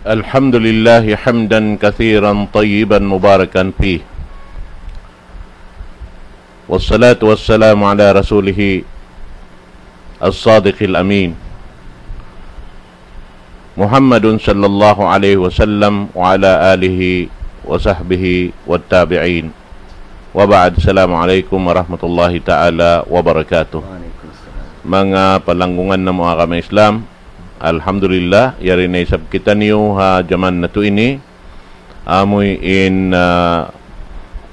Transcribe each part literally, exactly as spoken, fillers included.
الحمد لله حمدا كثيرا طيبا مباركا فيه، والصلاة والسلام على رسوله الصادق الأمين محمد صلى الله عليه وسلم وعلى آله وصحبه والتابعين، وبعد. السلام عليكم ورحمة الله تعالى وبركاته. Manga palanggungan namu' agama Islam, alhamdulillah, yari na isab kitaniyu ha jaman natu' ini. Amuin, ah,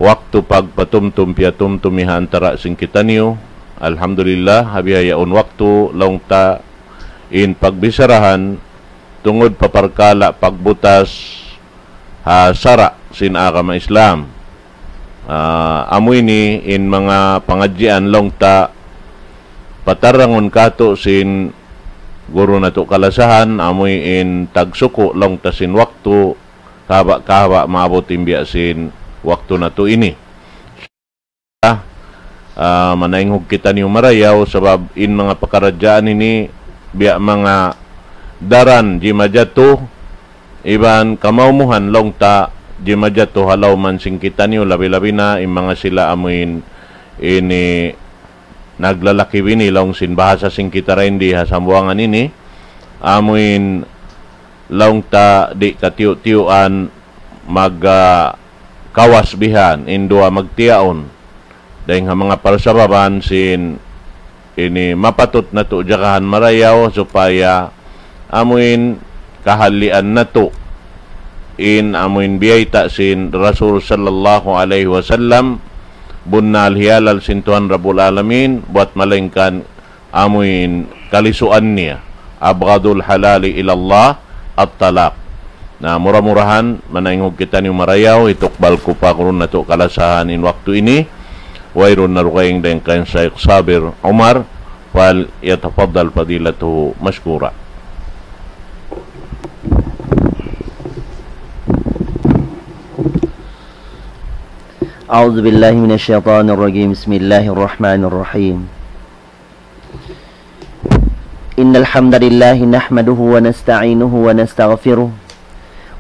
waktu pagpatumtum piyatumtumi ha antara' sin kitaniyu. Alhamdulillah, ha bihaun waktu laung ta in pagbisarahan tungud pa parkala' pagbutas ha sara' sin agama Islam. Ah, amu ini in manga pangadjian laung ta patarangun katu' sin guru natu' kalasahan, amuin tagsuku' laung ta sin waktu, kahaba'-kahaba' maabut in biya' sin waktu natu' ini. Ah, manaynghug kitaniyu marayaw sabab in manga pakaradjaan ini biya' manga daran jimajatu iban kamaumuhan laung ta jimajatu ha lawm sin kitaniyu, labi-labi na in manga sila amuin ini naglalaki bini laung sin bahasa sin kita dayn di ha Sambuwangan ini, amuin laung ta di' katiyu'-tiyuan mag, ah, kawas bihan in duwa magtiyaun. Dayng ha manga parsababan sin ini mapatut natu' jagahan marayaw supaya amuin kahalian natu' in amuin biyayta' sin Rasul sallallahu alayhi wasallam, bunnal hiyalal sin Tuhan Rabbul Alamin, buwat malaingkan amuin kalisuan niya. أبغض الحلال إلى الله الطلاق. Na, mura-murahan, manaynghug kitaniyu marayaw, hitukbal ku pa guru natu' kalasahan in waktu ini, wayruun na dugaing dayn kan Shaykh Sabir Umar, فليتفضل فضيلته مشكورا. أعوذ بالله من الشيطان الرجيم. بسم الله الرحمن الرحيم. إن الحمد لله نحمده ونستعينه ونستغفره،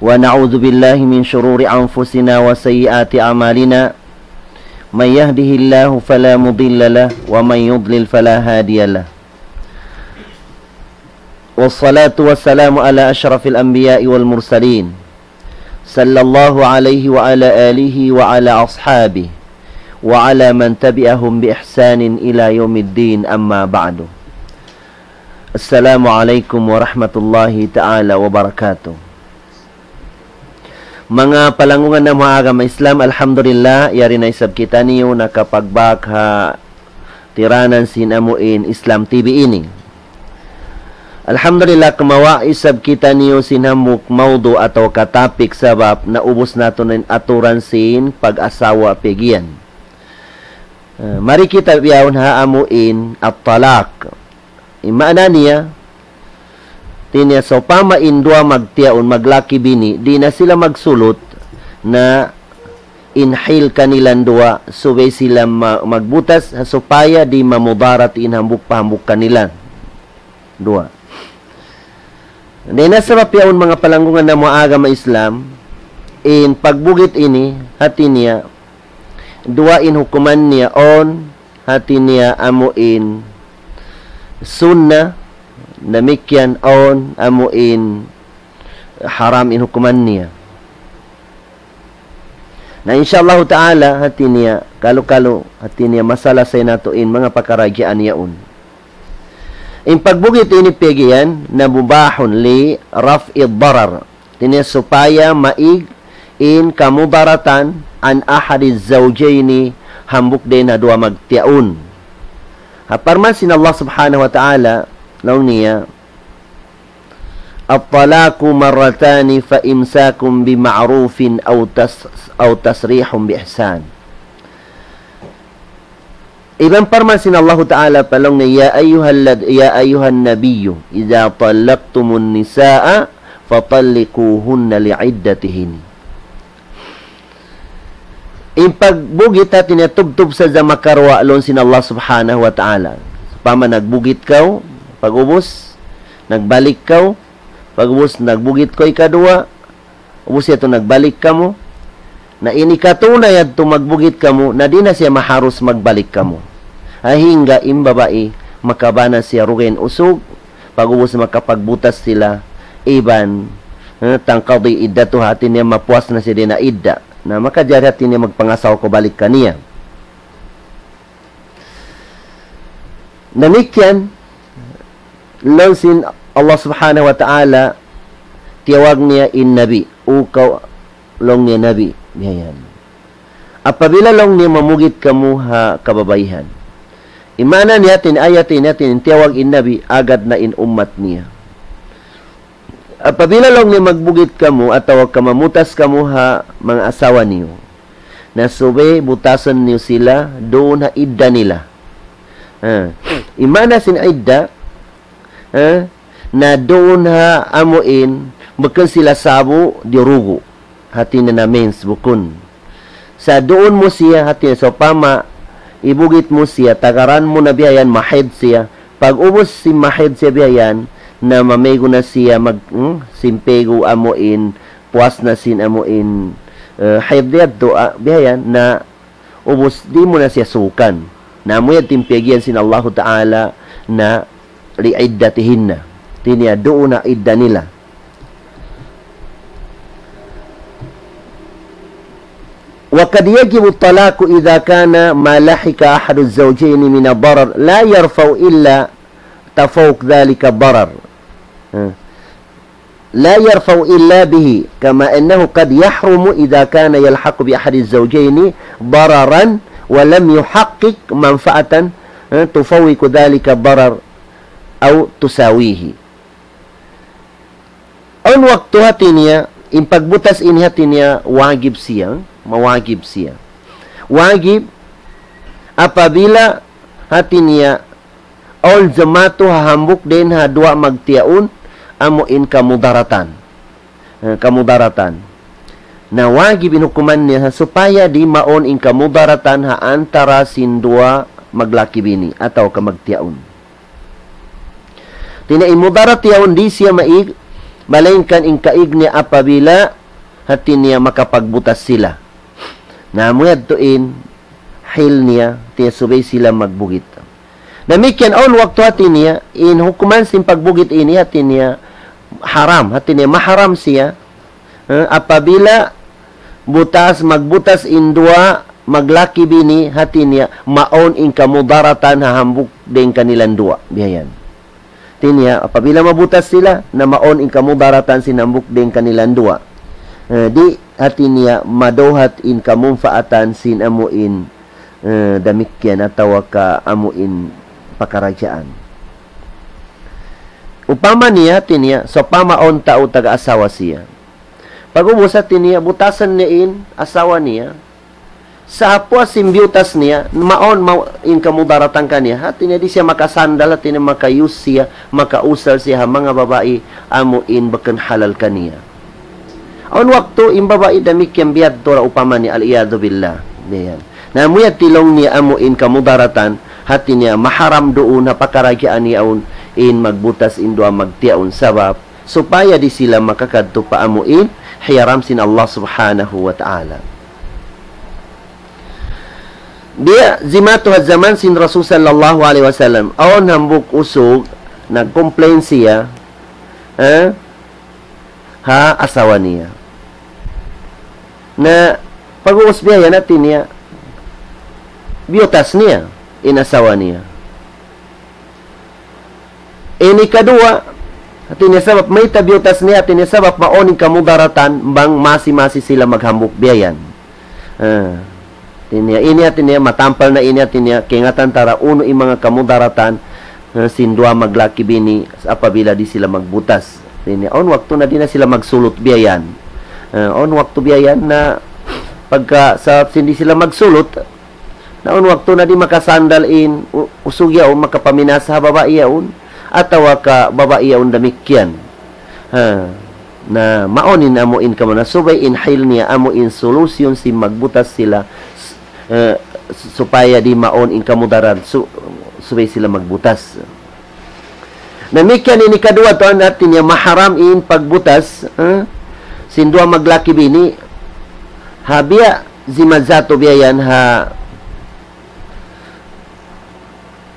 ونعوذ بالله من شرور أنفسنا وسيئات أعمالنا. من يهده الله فلا مضل له، ومن يضلل فلا هادي له. والصلاة والسلام على أشرف الأنبياء والمرسلين، صلى الله عليه وعلى آله وعلى أصحابه وعلى من تبعهم بإحسان إلى يوم الدين، أما بعد. السلام عليكم ورحمة الله تعالى وبركاته. Manga palanggungan namu' ha agama Islam, alhamdulillah, yari na isab kitaniyu nakapagbak ha tiranan sin amuin Islam T V ini. Alhamdulillah, kumawa' isab kitaniyu sin hambuuk mawdu' atawa ka topic sabab naubus natu' na in aturan sin pag-asawa piyagiyan. Eh, mari kita bihaun ha amuin at-talaq. In maana niya, hati niya sawpama in duwa magtiyaun, maglaki-bini, di' na sila magsulut na in hil kanilan duwa, subay sila ma-, magbutas, ha supaya di' mamudarat in hambuuk pa hambuuk kanilan duwa. Dayn ha sabab yaun manga palanggungan namu' ha agama Islam, in pagbugit ini, hati niya, duwa in hukuman niya, awn hati niya amuin sunnah, damikkiyan awn amuin haram in hukuman niya. Na insya Allahu ta'ala, hati niya, kalu-kalu, hati niya, masalasay natu' in manga pakaradjaan yaun. In pagbugit ini piyagiyan, na mubahun li raf'id darar. Hati niya supaya maig in kamudaratan an ahadiz zawjayni, hambuuk dayn ha duwa magtiyaun. Ha parman sin Allah Subhanahu wa Ta'ala, laung niya, الطلاق مرتان فإمساك بمعروف أو تس-، أو تسريح بإحسان. Iban parman sin Allahu Ta'ala pa laung niya, يا أيها الذ-، يا أيها النبي إذا طلقتم النساء فطلقوهن لعدتهن. In pagbugit hati niya tubtub sadja makaruwa laung sin Allah Subhanahu wa Ta'ala. Sawpama nagbugit kaw, pag-ubus, nagbalik kaw, Pag'ubus nagbugit kaw ikaduwa, ubus yadtu nagbalik kamu. Na in ikatū na yadtu magbugit kamu, na di' na siya maharus magbalik kamu. Hangga in babai, makabana siya dugaing usug, pag'ubus makapagbutas sila, iban, eh, تنقضي عدتها, hāti niya mapuas na siya dayn ha idda. Na makajari hāti niya magpangasawa kaw balik kaniya. Damikkiyan, laung sin Allah Subhanahu wa Ta'ala, tiyawag niya in Nabi, "O kaw," laung niya, "Nabi," biya' yan. "Apabila," laung niya, "mamugit kamu ha kababaihan." In maana niya hāti niya, ayat ini hāti niya, tiyawag in Nabi, agad na in ummat niya. "Apabila," laung niya, "magbugit kamu atawa ka mamutas kamu ha manga asawa niyu, na subay butasan niyu sila duun ha idda nila." Ha. In maana sin idda, ha, na duun ha amuin, bukun sila sa'bu, di' dugu'. Hāti niya na mens, bukun. Sa' duun mu siya, hāti niya, sawpama, ibugit mu siya, tagaran mu na biya' yan, mahaid siya. Pag'ubus sin mahaid siya biya' yan, na mamaygu na siya mag-, hmm, sin paygu amuin, puas na sin amuin, eh, haid yadtu, ah, biya' yan, na ubus di' mu na siya suukan. Na amu yan in piyag'iyan sin Allahu Ta'ala na لعدتهن. Hāti niya duun ha idda nila. وقد يجب الطلاق إذا كان ما لحق أحد الزوجين من الضرر لا يرفع إلا تفوق ذلك الضرر. Ha. لا يرفع إلا به، كما أنه قد يحرم إذا كان يلحق بأحد الزوجين ضررا ولم يحقق منفعة، eh, تفوق ذلك الضرر أو تساويه. Awn waktu hāti niya, in pagbutas ini hāti niya wajib siya, mawajib siya. Wajib apabila hāti niya awn jumatu ha hambuuk dayn ha duwa magtiyaun, amu in kamudaratan. Eh, kamudaratan. Na wajib in hukuman niya ha supaya di' mawn in kamudaratan ha antara sin duwa maglaki-bini atawa ka magtiyaun. Hāti niya in mudarat yaun di' siya maig, malaingkan in kaig niya apabila hāti niya makapagbutas sila. Na amu yadtu in hil niya, hāti niya subay sila magbugit. Damikkiyan awn waktu hāti niya, in hukuman sin pagbugit ini hāti niya haram, hāti niya maharam siya, eh, apabila butas, magbutas in duwa maglaki-bini, hāti niya mawn in kamudaratan ha hambuuk dayn kanilang duwa. Biya' yan. Hāti niya, apabila mabutas sila, na mawn in kamudaratan sin hambuuk dayn kanilang duwa. Eh, di', hāti niya, maduhat in kamunpaatan sin amu in, eh, damikkiyan atawa ka amu in pakaradjaan. Upama niya, hāti niya, sawpama awn tau taga asawa siya. Pag'ubus hāti niya, butasan niya in asawa niya. Sa' ha puas sin biyutas niya, mawn ma-, in kamudaratan kaniya. Hāti niya di' siya makasandal, hāti niya maka-use siya, makausal siya ha manga babai, amu in bukun halal kaniya. Awn waktu in babai damikkiyan biyadtu ra upama niya, العياذ بالله. Biya' yan. Na amu yadtu laung niya amu in kamudaratan, hāti niya maharam duun ha pakaradjaan yaun in magbutas in duwa magtiyaun sabab supaya di' sila makakadtu pa amu in hiyaram sin Allah Subhanahu wa Ta'ala. Biya' jimatu ha jaman sin Rasul sallallahu alayhi wasallam, awn hambuuk usug, nag-complain siya, eh, ha asawa niya. Na pag'ubus biya' yan hāti niya, biyutas niya in asawa niya. Ini kaduwa, hāti niya sabab mayta' biyutas niya, hāti niya sabab mawn in kamudaratan bang masi-masi sila maghambuuk biya' yan. Ah, hāti niya, ini hāti niya, matampal na ini hāti niya, kaingatan ta ra unu in manga kamudaratan, ah, sin duwa maglaki-bini apabila di' sila magbutas. Hāti niya, awn waktu na di' na sila magsulut biya' yan. Ah, awn waktu biya' yan na pagka sa' sin di' sila magsulut, na awn waktu na di' makasandal in u-, usug yaun, makapaminasa ha babai yaun, atawa ka babai yaun damikkiyan. Ha, na mawn in amu in kamu na subay in hil niya amu in solusyon sin magbutas sila, s-, eh, s-, supaya di' mawn in kamudaran su-, subay sila magbutas. Damikkiyan ini kaduwa tuwan, hati niya maharam in pagbutas, ha? Sin duwa maglaki bini, ha biya' zimazatu biya' yan ha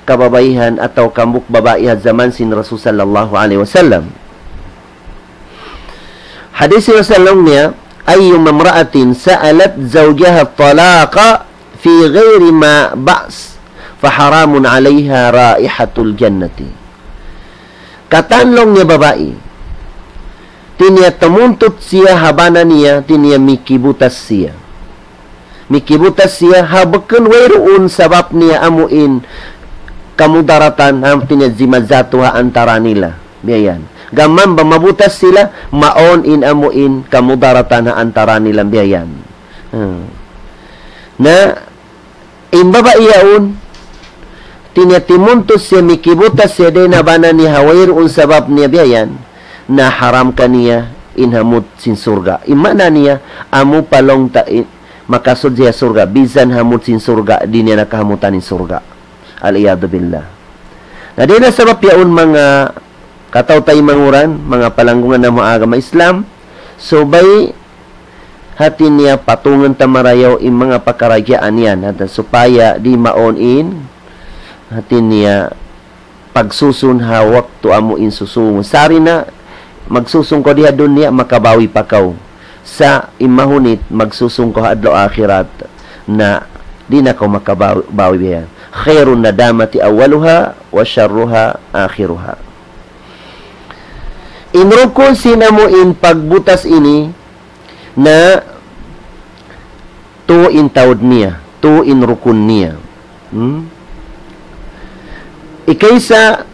kababaihan atawa hambuuk babai ha jaman sin Rasul sallallahu alayhi wasallam. Hadis sin Rasul niya, أيما امرأة سألت زوجها الطلاق في غير ما بأس فحرام عليها رائحة الجنة. Katan laung niya babai, hati niya tamuntut siya ha bana niya, hati niya mikibutas siya. Mikibutas siya, ha bukun wayruun sabab niya amu in kamudaratan, hati niya zimazatu ha antara nila. Biya' yan. Gam bang mabutas sila, mawn in amu in kamudaratan ha antara nila, biya' yan. Hmm. Na, in babai yaun, hati niya timuntut siya, mikibutas siya dayn ha bana niya ha wayruun sabab niya, biya' yan, na haram kaniya in hamut sin surga'. In maana niya, amu pa laung ta in, makasud siya surga', bisan hamut sin surga', di' niya na kahamutan in surga'. Al-iyadhu billah. Na dayn ha sabab yaun, manga kataw-taymanghuran, manga palanggungan namu' agama Islam, subay hati niya patungun ta marayaw in manga pakaradjaan yan, hati supaya di' mawn in, hati niya pagsusun ha waktu amu in susungun. Sari na, magsusun kaw di ha dunya, makabawi pa kaw. Sa' in mahunit, magsusun kaw ha adlaw akhirat, na di' na kaw makabawi, bawi biya' yan. خير الندامة أولها وشرها آخرها. In rukun sin amu in pagbutas ini, na tū in taud niya, tū in rukun niya. Hmm? Ikaisa,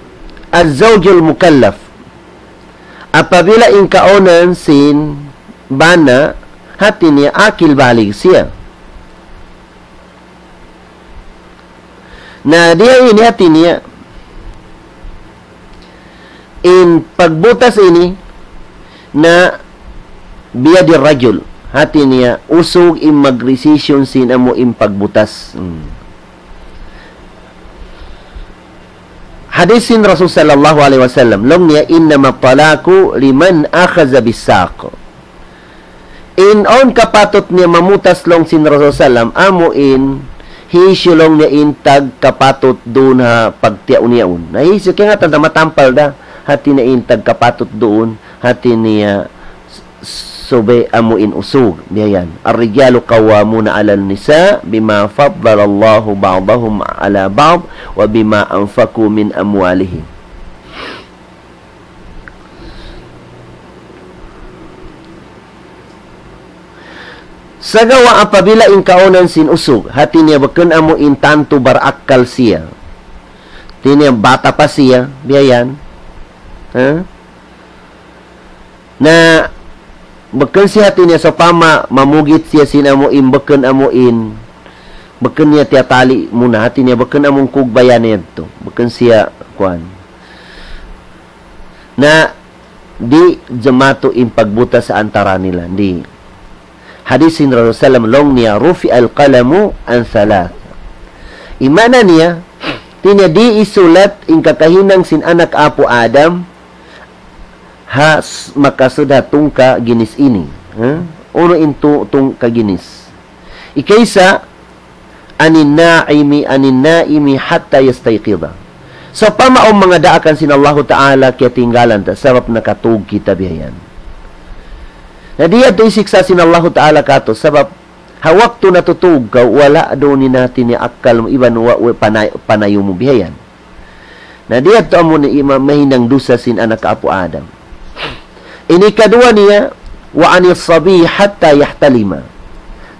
الزوج المكلف. Apabila in kaunan sin bana, hati niya akil balig siya. Na diya ini hati niya, in pagbutas ini na بيد الرجل. Hati niya, usug in magdesisyon sin amu in pagbutas. Hmm. Hadis sin Rasul sallallahu alayhi wasallam, laung niya, إنما الطلاق لمن أخذ بالساق. In awn kapatut niya mamutas laung sin Rasul sallam, amu in hisiyu laung niya in tagkapatut duun ha pagtiyaun yaun. Na hisiyu, kaingatan ta matampal da, hati niya in tagkapatut duun, hati niya s-, subay amu in usug, biya' yan. الرجال قوامون على النساء بما فضل الله بعضهم على بعض وبما أنفقوا من أموالهم. Sagawa' apabila in kaunan sin usug, hati niya bukun amu in tantu barakkal siya. Hati niya bata pa siya, biya' yan. Ha? Na, bukun siya hati niya sawpama mamugit siya sin amu in, bukun amu in, bukun niya tiyatali muna, hati niya bukun amu in kugbayan niya yadtu. Bukun siya, kuwan. Na, di' jumatu in pagbutas ha antara nila. Di'. Hadis sin Rasul sallam laung niya, رفع القلم عن ثلاث. In maana niya, hati niya di' isulat in kakahinang sin anak apu' Adam, ha s-, makasud ha tungka ginis ini. Ha? Unu in tu-, tungka ginis. Ikaisa, عن النائم، عن النائم حتى يستيقظ. Sawpama awn manga daakan sin Allahu Ta'ala kiyatinggalan ta, sabab nakatug kita biya' yan. Na di' yadtu hisiksa' sin Allahu Ta'ala katu', sabab ha waktu natutug kaw, wala' duun in hati niya akkal mu, iban wa-, wa-, panay-, panayu mu biya' yan. Na di' yadtu amu in ima-, mahinang dusa sin anak apu' Adam. Ini kaduwa niya, وعن الصبي حتى يحتلم.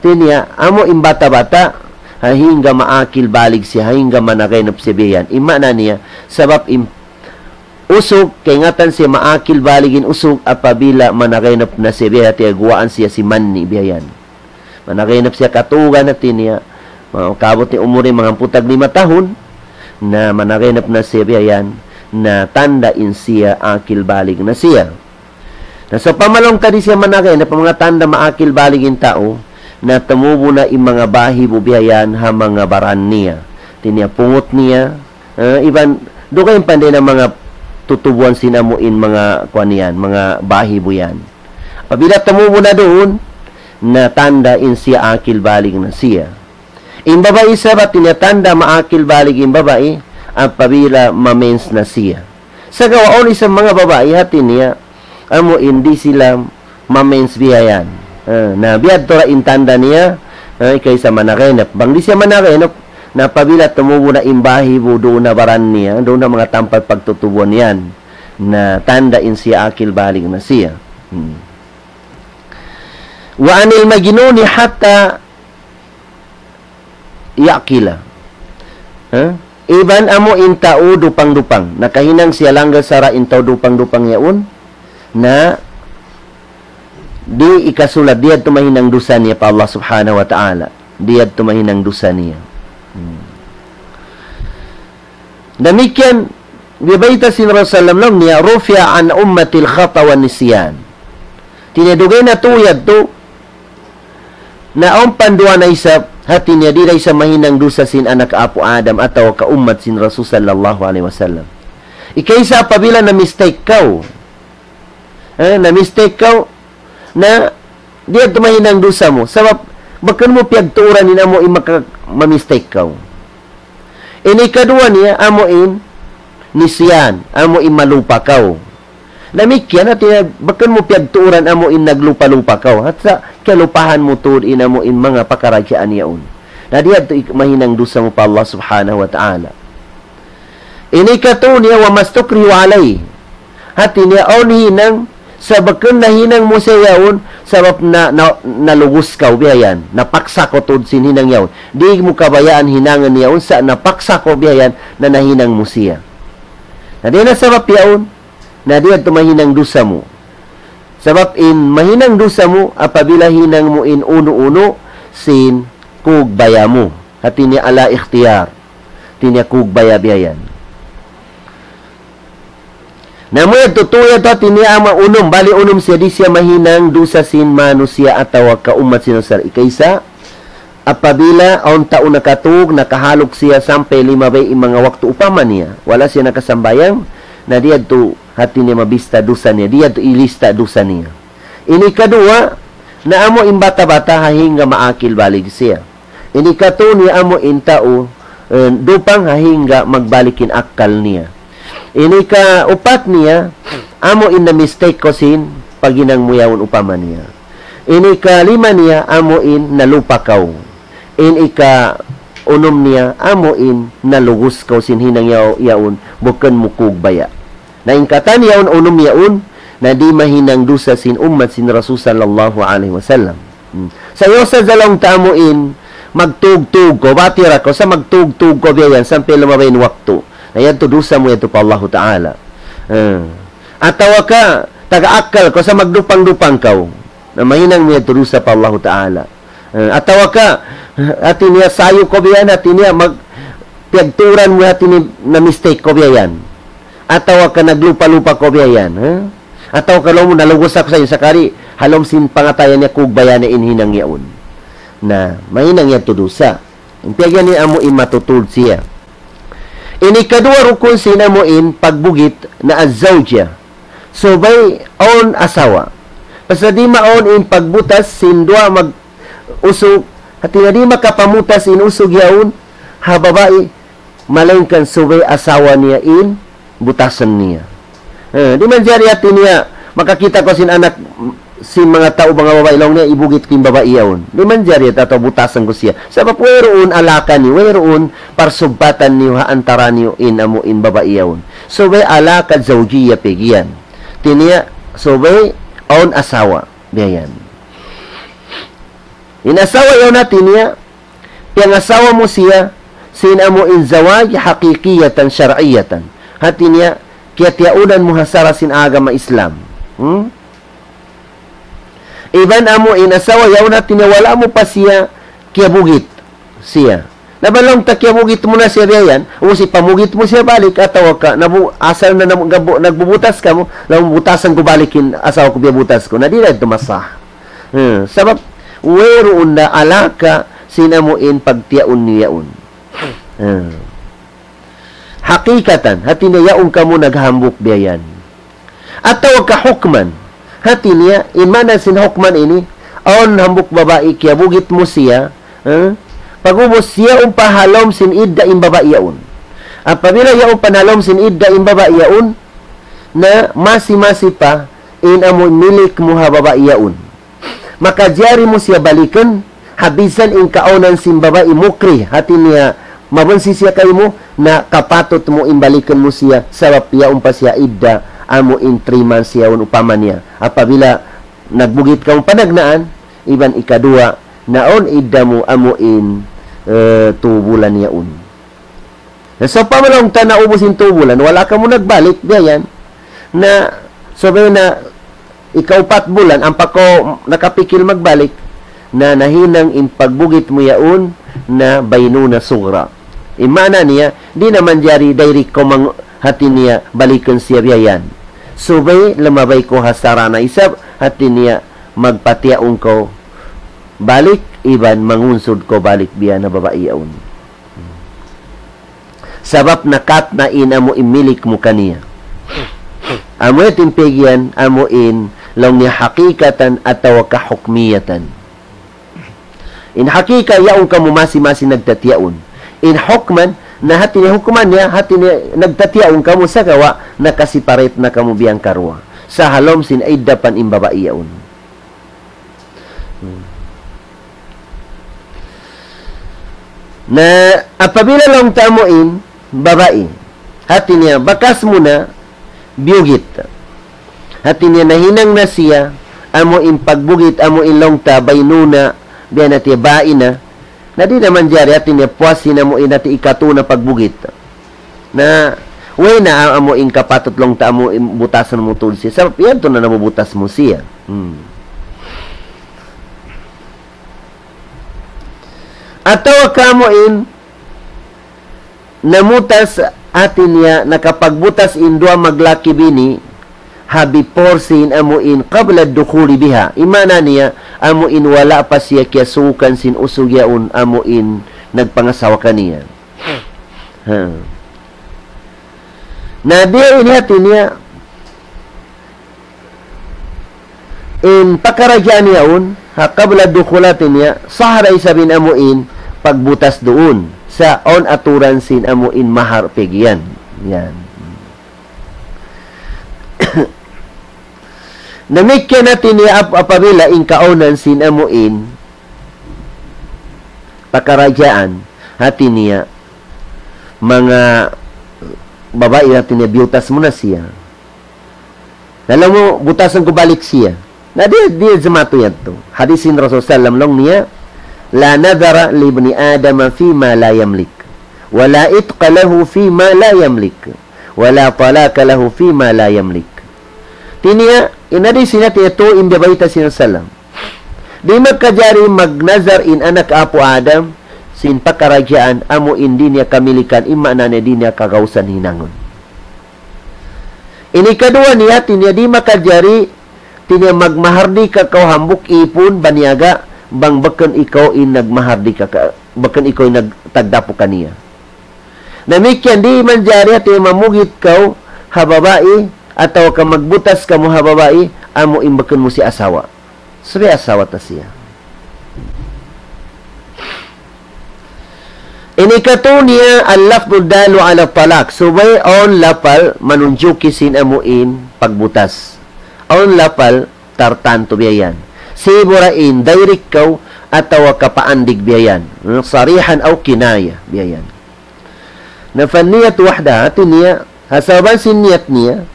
Hati niya, amu in bata'-bata', ha hangga maakil balig siya, ha hangga managaynap siya biya' yan. In maana niya, sabab in usug, kaingatan siya maakil balig in usug apabila managaynap na siya biya' yan, hati niya guwaan siya sin mani biya' yan. Managaynap siya katugan hati niya, makaabut niya umur niya manga hangpu' tag lima tahun, na managaynap na siya biya' yan, na tanda' in siya akil balig na siya. Na sawpama laung ta di' siya managaynap, manga tanda' maakil balig in tau, na tumubu' na in manga bahibu biya' yan ha manga baran niya. Hati niya pungut niya, ah, iban, dugaing pa in manga tutubuan sin amu in manga kuwan yan, manga bahibu yan. Apabila tumubu na duun, na tanda' in siya akil balig na siya. In babai isab hati niya tanda' maakil balig in babai, apabila mamens na siya. Sagawa' awn isab manga babai hati niya, amu in di' sila mamens biya' yan. Ah, na biya' tu ra in tanda' niya, ah, kaysa managenop. Bang di' siya managenop, na apabila tumubu na in bahibu duun ha baran niya, duun ha manga tampat pagtutubuan yan, na tanda' in siya akil balig na siya. Hmm. وعن المجنون حتى يعقل. Ha? Iban amu in tau dupang-dupang. Nakahinang siya langgal sara' in tau dupang-dupang yaun. Na di' hikasulat, di' yadtu mahinang dusa niya pa Allah Subhanahu wa Ta'ala. Di' yadtu mahinang dusa niya. Hmm. Damikkiyan, biya' bayta' sin Rasulullah laung niya, رفع عن أمتي الخطأ والنسيان. Hati niya dugaing na tuud yadtu, na awn panduwa na isab, hati niya di' da isab mahinang dusa sin anak apu' Adam atawa ka ummat sin Rasul sallallahu alayhi wasallam. Ikaisa apabila na-mistake kaw, eh, na-mistake kaw, na di' yadtu mahinang dusa mu. Sabab, bukun mu piyagtuuran in amu in maka-, ma-mistake kaw. Ini kaduwa niya, amu in nisyan, amu in malupa kaw. Damikkiyan, hati niya, bukun mu piyagtuuran amu in naglupa-lupa kaw. Hati sa, kiyalupahan mu tuud in amu in manga pakaradjaan yaun. Na di' yadtu ik-, mahinang dusa mu pa Allah Subhanahu wa Ta'ala. Ini katu niya وما استكرهوا عليه. Hati niya awn hinang, sa' bukun nahinang mu siya yaun, sabab na, na, nalugus kaw biya' yan, napaksa kaw tuud sin hinang yaun. Di' mu kabayaan hinangan yaun, sa' napaksa kaw biya' yan, na nahinang mu siya. Na di' na sabab yaun, na di' yadtu mahinang dusa mu. Sabab in mahinang dusa mu, apabila hinang mu in unu-unu, sin kugbaya mu. Hati niya على اختيار. Hati niya kugbaya biya' yan. Na amu yadtu tuud yadtu hati niya amu unum, bali unum siya di' siya mahinang dusa sin manusiya' atawa ka ummat sin Rasul. Ikaisa, apabila awn tau nakatug, nakahaluk siya sampay limabay in manga waktu upama niya, wala' siya nakasambahayang, na di' yadtu hati niya mabista dusa niya, di' yadtu ilista dusa niya. Ini kaduwa, na amu in bata'-bata' ha hangga maakil balig siya. Ini katu niya amu in tau, eh, dupang ha hangga magbalik in akkal niya. Ini kaupat niya, amu in na-mistake kaw sin paghinang mu yaun upama niya. Ini kalima niya, amu in nalupa kaw. In ikaunum niya, amu in nalugus kaw sin hinang yaw-, yaun, bukun mu kugbaya. Na in katan yaun unum yaun, na di' mahinang dusa sin ummat sin Rasul sallallahu alayhi wasallam. Hmm. Sa' yaun sa' laung ta amu in, magtug-tug kaw, batira kaw, sa' magtug-tug kaw biya' yan, sampay lumabay in waktu. Na yadtu dusa mu yadtu pa Allahu Ta'ala. Hmm. Atawa ka, taga akkal kaw, sa' magdupang-dupang kaw. Na mahinang mu yadtu dusa pa Allahu Ta'ala. Eh, atawa ka, hati niya sayu kaw biya' yan, hati niya mag-, piyagturan mu hati niya na-mistake kaw biya' yan. Atawa ka naglupa-lupa kaw biya' yan, ha? Atawa ka laung mu nalugus aku sayu sakali, ha lawm sin pangatayan niya kugbaya niya in hinang yaun. Na, mahinang yadtu dusa. In piyagyan niya amu in matutud siya. Ini kaduwa rukun sin amu in pagbugit na az-zawjah. Subay awn asawa. Pasal di' maawn in pagbutas sin duwa mag-usug, hati niya di' makapamutas in usug yaun, ha babai, malaingkan subay asawa niya in butasan niya. Eh, di' manjari hati niya, makakita' kaw sin anak, sin manga tau, manga babai, laung niya, ibugit ku in babai yaun. Di' manjari atawa butasan ku siya. Sabab wayruun alaka niyu, wayruun parsubbatan niyu ha antara niyu in amu in babai yaun. Subay alaka zawjiyya piyag'iyan. Hati niya, subay awn asawa. Biya' yan. In asawa yaun hati niya, piyangasawa mu siya, sin amu in zawaj haqiqiyatan shar'iyatan. Hati niya, kiyatiyaunan mu ha sara' sin agama Islam. Hmm? Iban amu in asawa yaun hati niya wala' mu pa siya kiyabugit siya. Na bang laung ta kiyabugit mu na siya biya' yan, ubus ipamugit mu siya balik, atawa ka, nabu-, asal na nabu-, gabu-, nagbubutas kamu, laung butasan ku balik in asawa ku biya' butas ku. Na di' na yadtu masah. Hmm, sabab, wayruun na alaka sin amu in pagtiyaun niyu yaun. Hmm. Hakikatan, hati niya yaun kamu naghambuuk biya' yan. Atawa ka hukman. Hati niya, in maana sin hukman ini, awn hambuuk babai kiyabugit mu siya, eh? Pag'ubus siya yaun pa ha lawm sin idda in babai yaun. Apabila yaun pa ha lawm sin idda in babai yaun, na masi-masi pa in amu milik mu ha babai yaun. Makajari mu siya balikan, ha bisan in kaawnan sin babai mukrih, hati niya mabunsi siya kaymu, na kapatut mu in balikan mu siya, sabab yaun pa siya idda, amu in three months yaun upama niya. Apabila nagbugit kamu panagnaan, iban ikaduwa, na awn idda mu amu in, eh, tū bulan yaun. Na sawpama laung ta naubus in tū bulan, wala' kamu nagbalik, biya' yan. Na, subay na ikaupat bulan, ampa kaw nakapikil magbalik, na nahinang in pagbugit mu yaun, na baynuna sughra. In maana niya, di' na manjari direct kaw mang-, hati niya, balikan siya biya' yan. Subay, lamabay kaw ha sara' na isab, hati niya, magpatiyaun kaw balik, iban mangunsud kaw balik biya' na babai yaun. Sabab nakat na in amu in milik mu kaniya. Amu in piyag'iyan, amu in laung niya hakikatan atawa ka hukmiyatan. In hakika, yaun kamu masi-masi nagtatiyaun. In hukman, na hati niya hukman niya, hati niya nagtatiyaun kamu sagawa', nakaseparate na kamu biya' karuwa. Sa ha lawm sin idda pa in babai yaun. Hmm. Na apabila laung ta amu in babai, hati niya bakas mu na biyugit. Hati niya nahinang na siya, amu in pagbugit, amu in laung ta baynuna, biya' na tiya baina. Na di' na manjari, hati niya puas na amu in hati ikatū na pagbugit. Na, way na a-, amu in kapatut laung ta amu in butasan mu tuud siya. Sabab yan tuud na nabubutas mu siya. Hmm. Atawa ka amu in namutas, hati niya nakapagbutas in duwa maglaki bini, ha before sin amu in qabla dukhuli biha. In maana niya, amu in wala' pa siya kiyasukan sin usug yaun amu in nagpangasawa kaniya. Ha. Na biya' ini hati niya, in pakaradjaan yaun, ha qabla dukhul hati niya, sahra isab in amu in pagbutas duun. Sa' awn aturan sin amu in mahar piyag'iyan. Yan. Damikkiyan hati niya ap-, apabila in kaawnan sin amu in pakaradjaan, hati niya, manga babai, hati niya biyutas mu na siya. Na laung mu, butasan ku balik siya. Na di', di' jimatu yadtu. Hadis sin Rasul sallam laung niya, لا نذر لابن آدم فيما لا يملك، ولا عتق له فيما لا يملك، ولا طلاق له فيما لا يملك. Hati niya, in hadis sin hati niya tū in biyabayta' sin Rasul sallam. Di' makajari magnazar in anak apu' Adam, sin pakaradjaan, amu in di' niya kamilikan, in maana niya di' niya kagausan hinangun. Ini kaduwa niya, hati niya di' makajari, hati niya magmahardika kaw hambuuk ipun, baniyaga, bang bukun ikaw in nagmahardika ka, bukun ikaw in nagtagdapu kaniya. Damikkiyan di' manjari hati mamugit kaw ha babai, atawa ka magbutas kamu ha babai, amu in bukun mu siya asawa. Subay asawa ta siya. Ini katū niya اللفظ الدال على الطلاق. Subay awn lapal manunjuki sin amu in pagbutas. Awn lapal tartantu biya' yan. Sibu' da in direct kaw atawa ka paandig biya' yan. Hmm, صريحا أو كناية biya' yan. Na فالنية وحدها, hati niya, ha sabab sin niyat niya,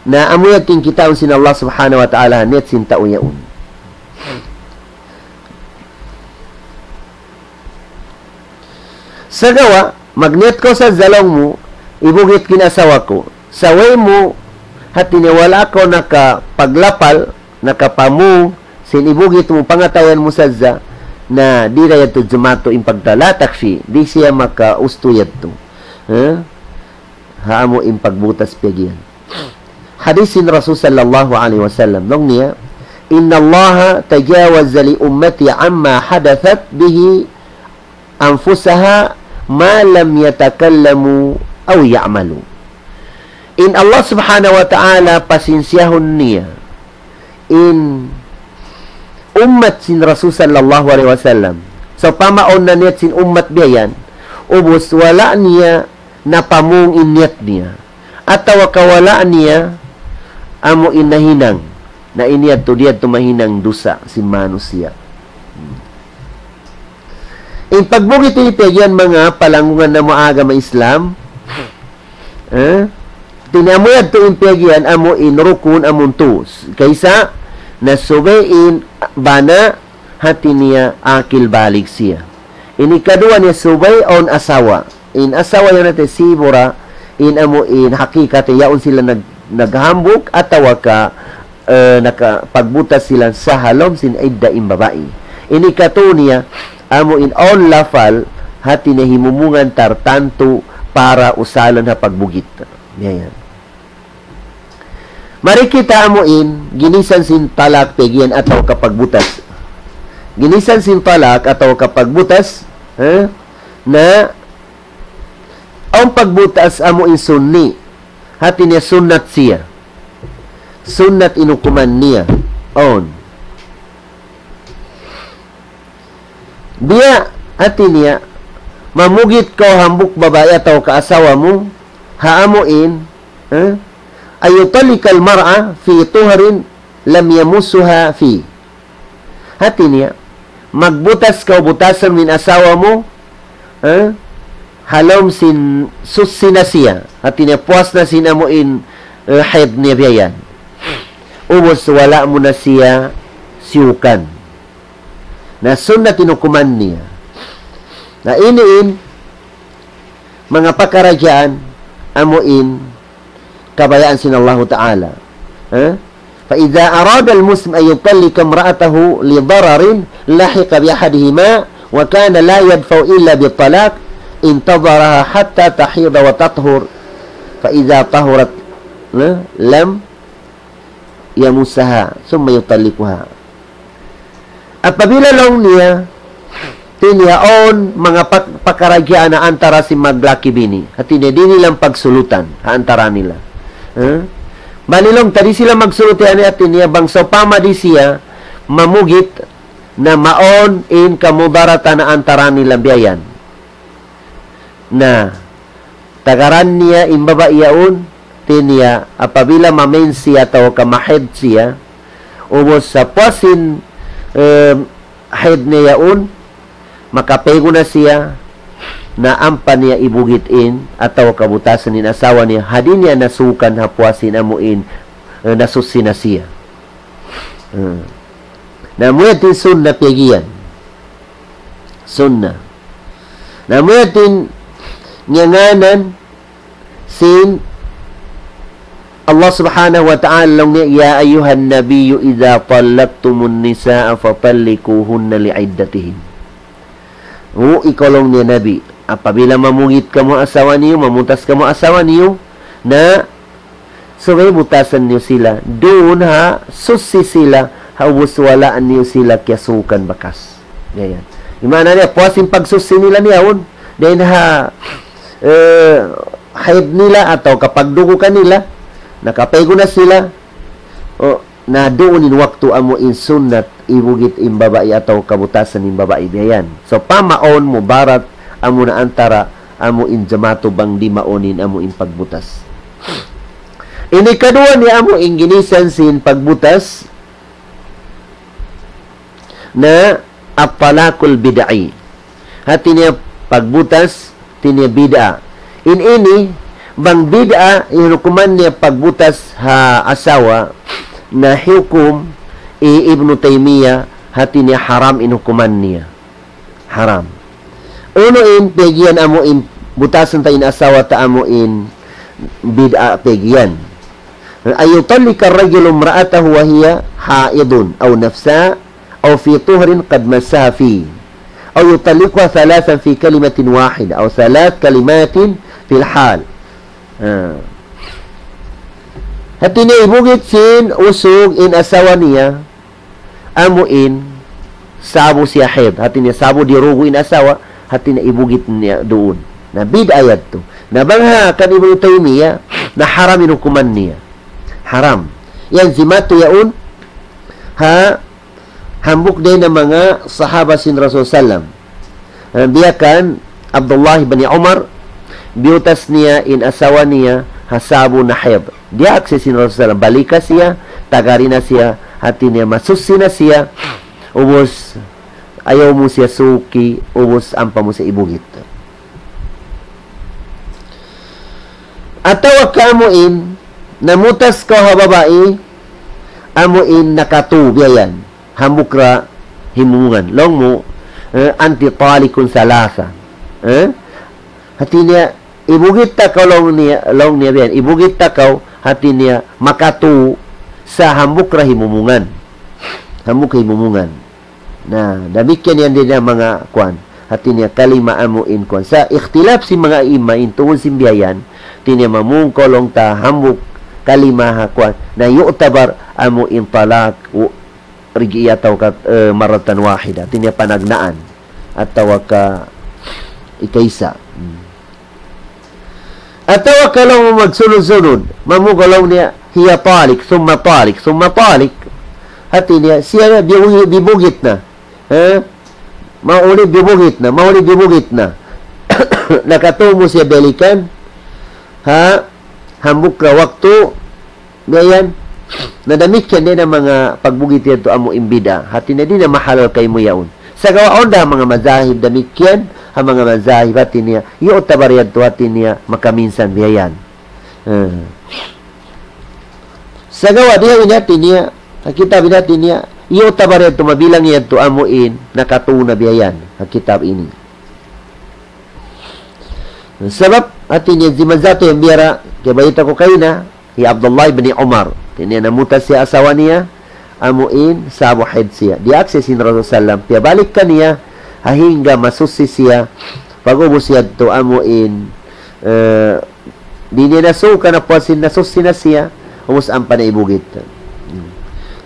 na amu yan kitaun sin Allah Subhanahu wa Ta'ala, niyat sin tau yaun. Sagawa', magniyat kaw sadja laung mu, ibugit ku in asawa ku. Sa' way mu, hati niya wala' kaw nakapaglapal, nakapamung, sin ibugit mu, pangatayan mu sadja, na di' da yadtu jimatu in pagta-, لا تكفي, di' siya makaustu yadtu. Ha? Ha amu in pagbutas piyag'iyan. Hadis sin Rasul sallallahu alayhi wasallam, laung niya, إن الله تجاوز لأمتي عما حدثت به أنفسها ما لم يتكلموا أو يعملوا. In Allah Subhanahu wa Ta'ala pasinsiyahun niya in ummat sin Rasul sallallahu alayhi wasallam. Sawpama awn naniyat sin ummat biya' yan, ubus wala' niya napamung in niyat niya, atawa ka wala' niya amu in nahinang, na in yadtu, di' yadtu mahinang dusa sin manusiya'. In pagbugit ini, piyag-iyan manga palanggungan namu' agama Islam, eh? Hati niya amu yadtu in piyag-iyan amu in rukun amun tus. Kaysa, na subay in bana', hati niya akil balig siya. Ini kaduwa niya subay awn asawa. In asawa yan hati sibura, in amu in hakikat yaun sila nag-, naghambuuk atawa ka, eh, nakapagbutas sila sa halawm sin idda in babai. Ini katu niya, amu in awn lapal, hati niya himumungan tartantu para usalan ha pagbugit. Yan, yan. Mari kita amu in ginisan sin talak piyag-iyan atawa ka pagbutas. Ginisan sin talak atawa ka pagbutas, ha? Na awn pagbutas amu in sunni. Hati niya sunnat siya. Sunnat in hukuman niya. Awn. Biya' hati niya, mamugit kaw hambuuk babai atawa ka asawa mu, ha amu in, eh? أن يطلق المرأة في طهر لم يمسها فيه. Hati niya, magbutas kaw butasan mu in asawa mu, eh? Halawm sin suchi na siya. Hati niya, puas na sin amu in, eh, haid niya biya' yan. Ubus wala' mu na siya siyukan. Na sunnat in hukuman niya. Na ini in manga pakaradjaan amu in kabayaan sin Allahu Ta'ala. Ha? فإذا أراد المسلم أن يطلق امرأته لضرر لحق بأحدهما وكان لا يدفع إلا بالطلاق انتظرها حتى تحيض وتطهر فإذا طهرت، ha, لم يمسها ثم يطلقها. Apabila laung niya, hati niya awn manga pak-, pakaradjaan ha antara sin maglaki bini. Hati niya di' nila pagsulutan ha antara nila. Ha? Bali laung ta di' sila magsulut, hati niya bang sawpama di' siya mamugit na mawn in kamudaratan ha antara nila biya' yan. Na, tagaran niya in babai yaun, hati niya, apabila mamensi atawa ka mahaid siya, ubus sa puas sin, em, haid niya yaun, makapaygu na siya, na ampa niya ibugit in, atawa ka butasan in asawa niya, ha di' niya nasukan ha puas sin amu in, eh, nasuchi na siya. Hmm. Na amu yadtu in sunna piyag-iyan. Sunna. Na amu yadtu in ngiyangānan sin Allah Subhanahu wa Ta'ala laung niya, يا أيها النبي إذا طلقتم النساء فطلقوهن لعدتهن. O ikaw laung niya Nabi, apabila mamugit kamu asawa niyu, mamutas kamu asawa niyu, na subay butasan niyu sila, duun ha suchi sila, ha ubus wala' niyu sila kiyasukan bakas. Yan, yan. Di' maana niya, puas in pagsuchi nila niya yaun. Dayn ha, eh, haid nila atawa ka pagdugu kanila, nakapaygu na sila. O, na duun in waktu amu in sunnat ibugit in babai atawa ka butasan in babai biya' yan. Sawpama awn mudarat amu na antara amu in jamatu bang di' mawn in amu in pagbutas. Ini kaduwa niya amu in ginisan sin pagbutas na at-talaqul bid'i. Hati niya pagbutas, hati niya bid'a. In ini, bang bid'a, in hukuman niya pagbutas ha asawa, na hukum hi Ibnu Taymiyyah, hati niya haram in hukuman niya. Haram. Unu in piyag-iyan amu in butasan ta in asawa ta amu in bid'a piyag-iyan. أن يطلق الرجل امرأته وهي حائض أو نفساء أو في طهر قد مسها فيه، أو يطلقها ثلاثا في كلمة واحدة، أو ثلاث كلمات في الحال. Ah. Hati niya ibugit sin usug in asawa niya, amu in sa'bu siya haid. Hati niya sa'bu dirugu in asawa, hati niya ibugit niya duun. Na bid'a yadtu. Na bang ha kan Ibnu Taymiyyah, na haram in hukuman niya. Haram. Yan zimatu yaun, ha, hambuuk dayn ha manga sahaba sin Rasul sallam. Ah, biya' kan Abdullah bin Umar, biyutas niya in asawa niya ha sabu na hayd. Diyaak sin Rasul sallam, balika siya, tagari na siya, hati niya masuchi na siya, ubus ayaw mu siya suki, ubus ampa mu siya ibugit. Atawa ka amu in, namutas kaw ha babai, amu in nakatū biya' yan. Hambuuk ra himumungan. Laung mu, eh, "Anti talikun salasa." Eh? Hati niya, ibugit ta kaw laung niya, laung niya biya' yan. Ibugit ta kaw, hati niya, makatū sa hambuuk ra himumungan. Hambuuk himumungan. Na, damikkiyan yan dayn ha manga kuwan. Hati niya kalima amu in kuwan. Sa' ikhtilaf sin manga imam in tungud sin biya' yan, hati niya mamung kaw laung ta hambuuk kalima ha kuwan. Na yu'tabar amu in talak, u-, raj'i atawa ka, eh, marratan wahida. Hati niya panagnaan. Atawa ka ikaisa. Hmm. Atawa ka laung mu magsunud-sunud, mamung kaw laung niya, "Hiya talik, thumma talik, thumma talik." Hati niya, siya na bibu-, bibugit na. Ha? Mauli bibugit na, mauli bibugit na. Nakatū mu siya balikan. Ha? Hambuuk ra waktu, biya' yan. Na damikkiyan dayn ha manga pagbugit yadtu amu in bid'a. Hati niya di' na mahalal kaymu yaun. Sagawa' awn da ha manga mazahib damikkiyan, ha manga mazahib hati niya, yu'tabar yadtu hati niya makaminsan biya' yan. Eh. Sagawa' di ha ini hati niya, ha kitab ini hati niya, yu'tabar yadtu mabilang yadtu amu in nakatū na biya' yan, ha kitab ini. Sabab, hati niya, zimatu yan biya' ra, kiyabayta' ku kaina, hi Abdullah ibn Umar. Hati niya namutas siya asawa niya, amu in sabu hayd siya. Diyaak siya sin Rasul sallam, piyabalik kaniya, ha hangga masuchi siya, pag'ubus yadtu amu in, eh, di' niya nasuka na puas sin nasuchi na siya, ubus ampa na ibugit. Hmm.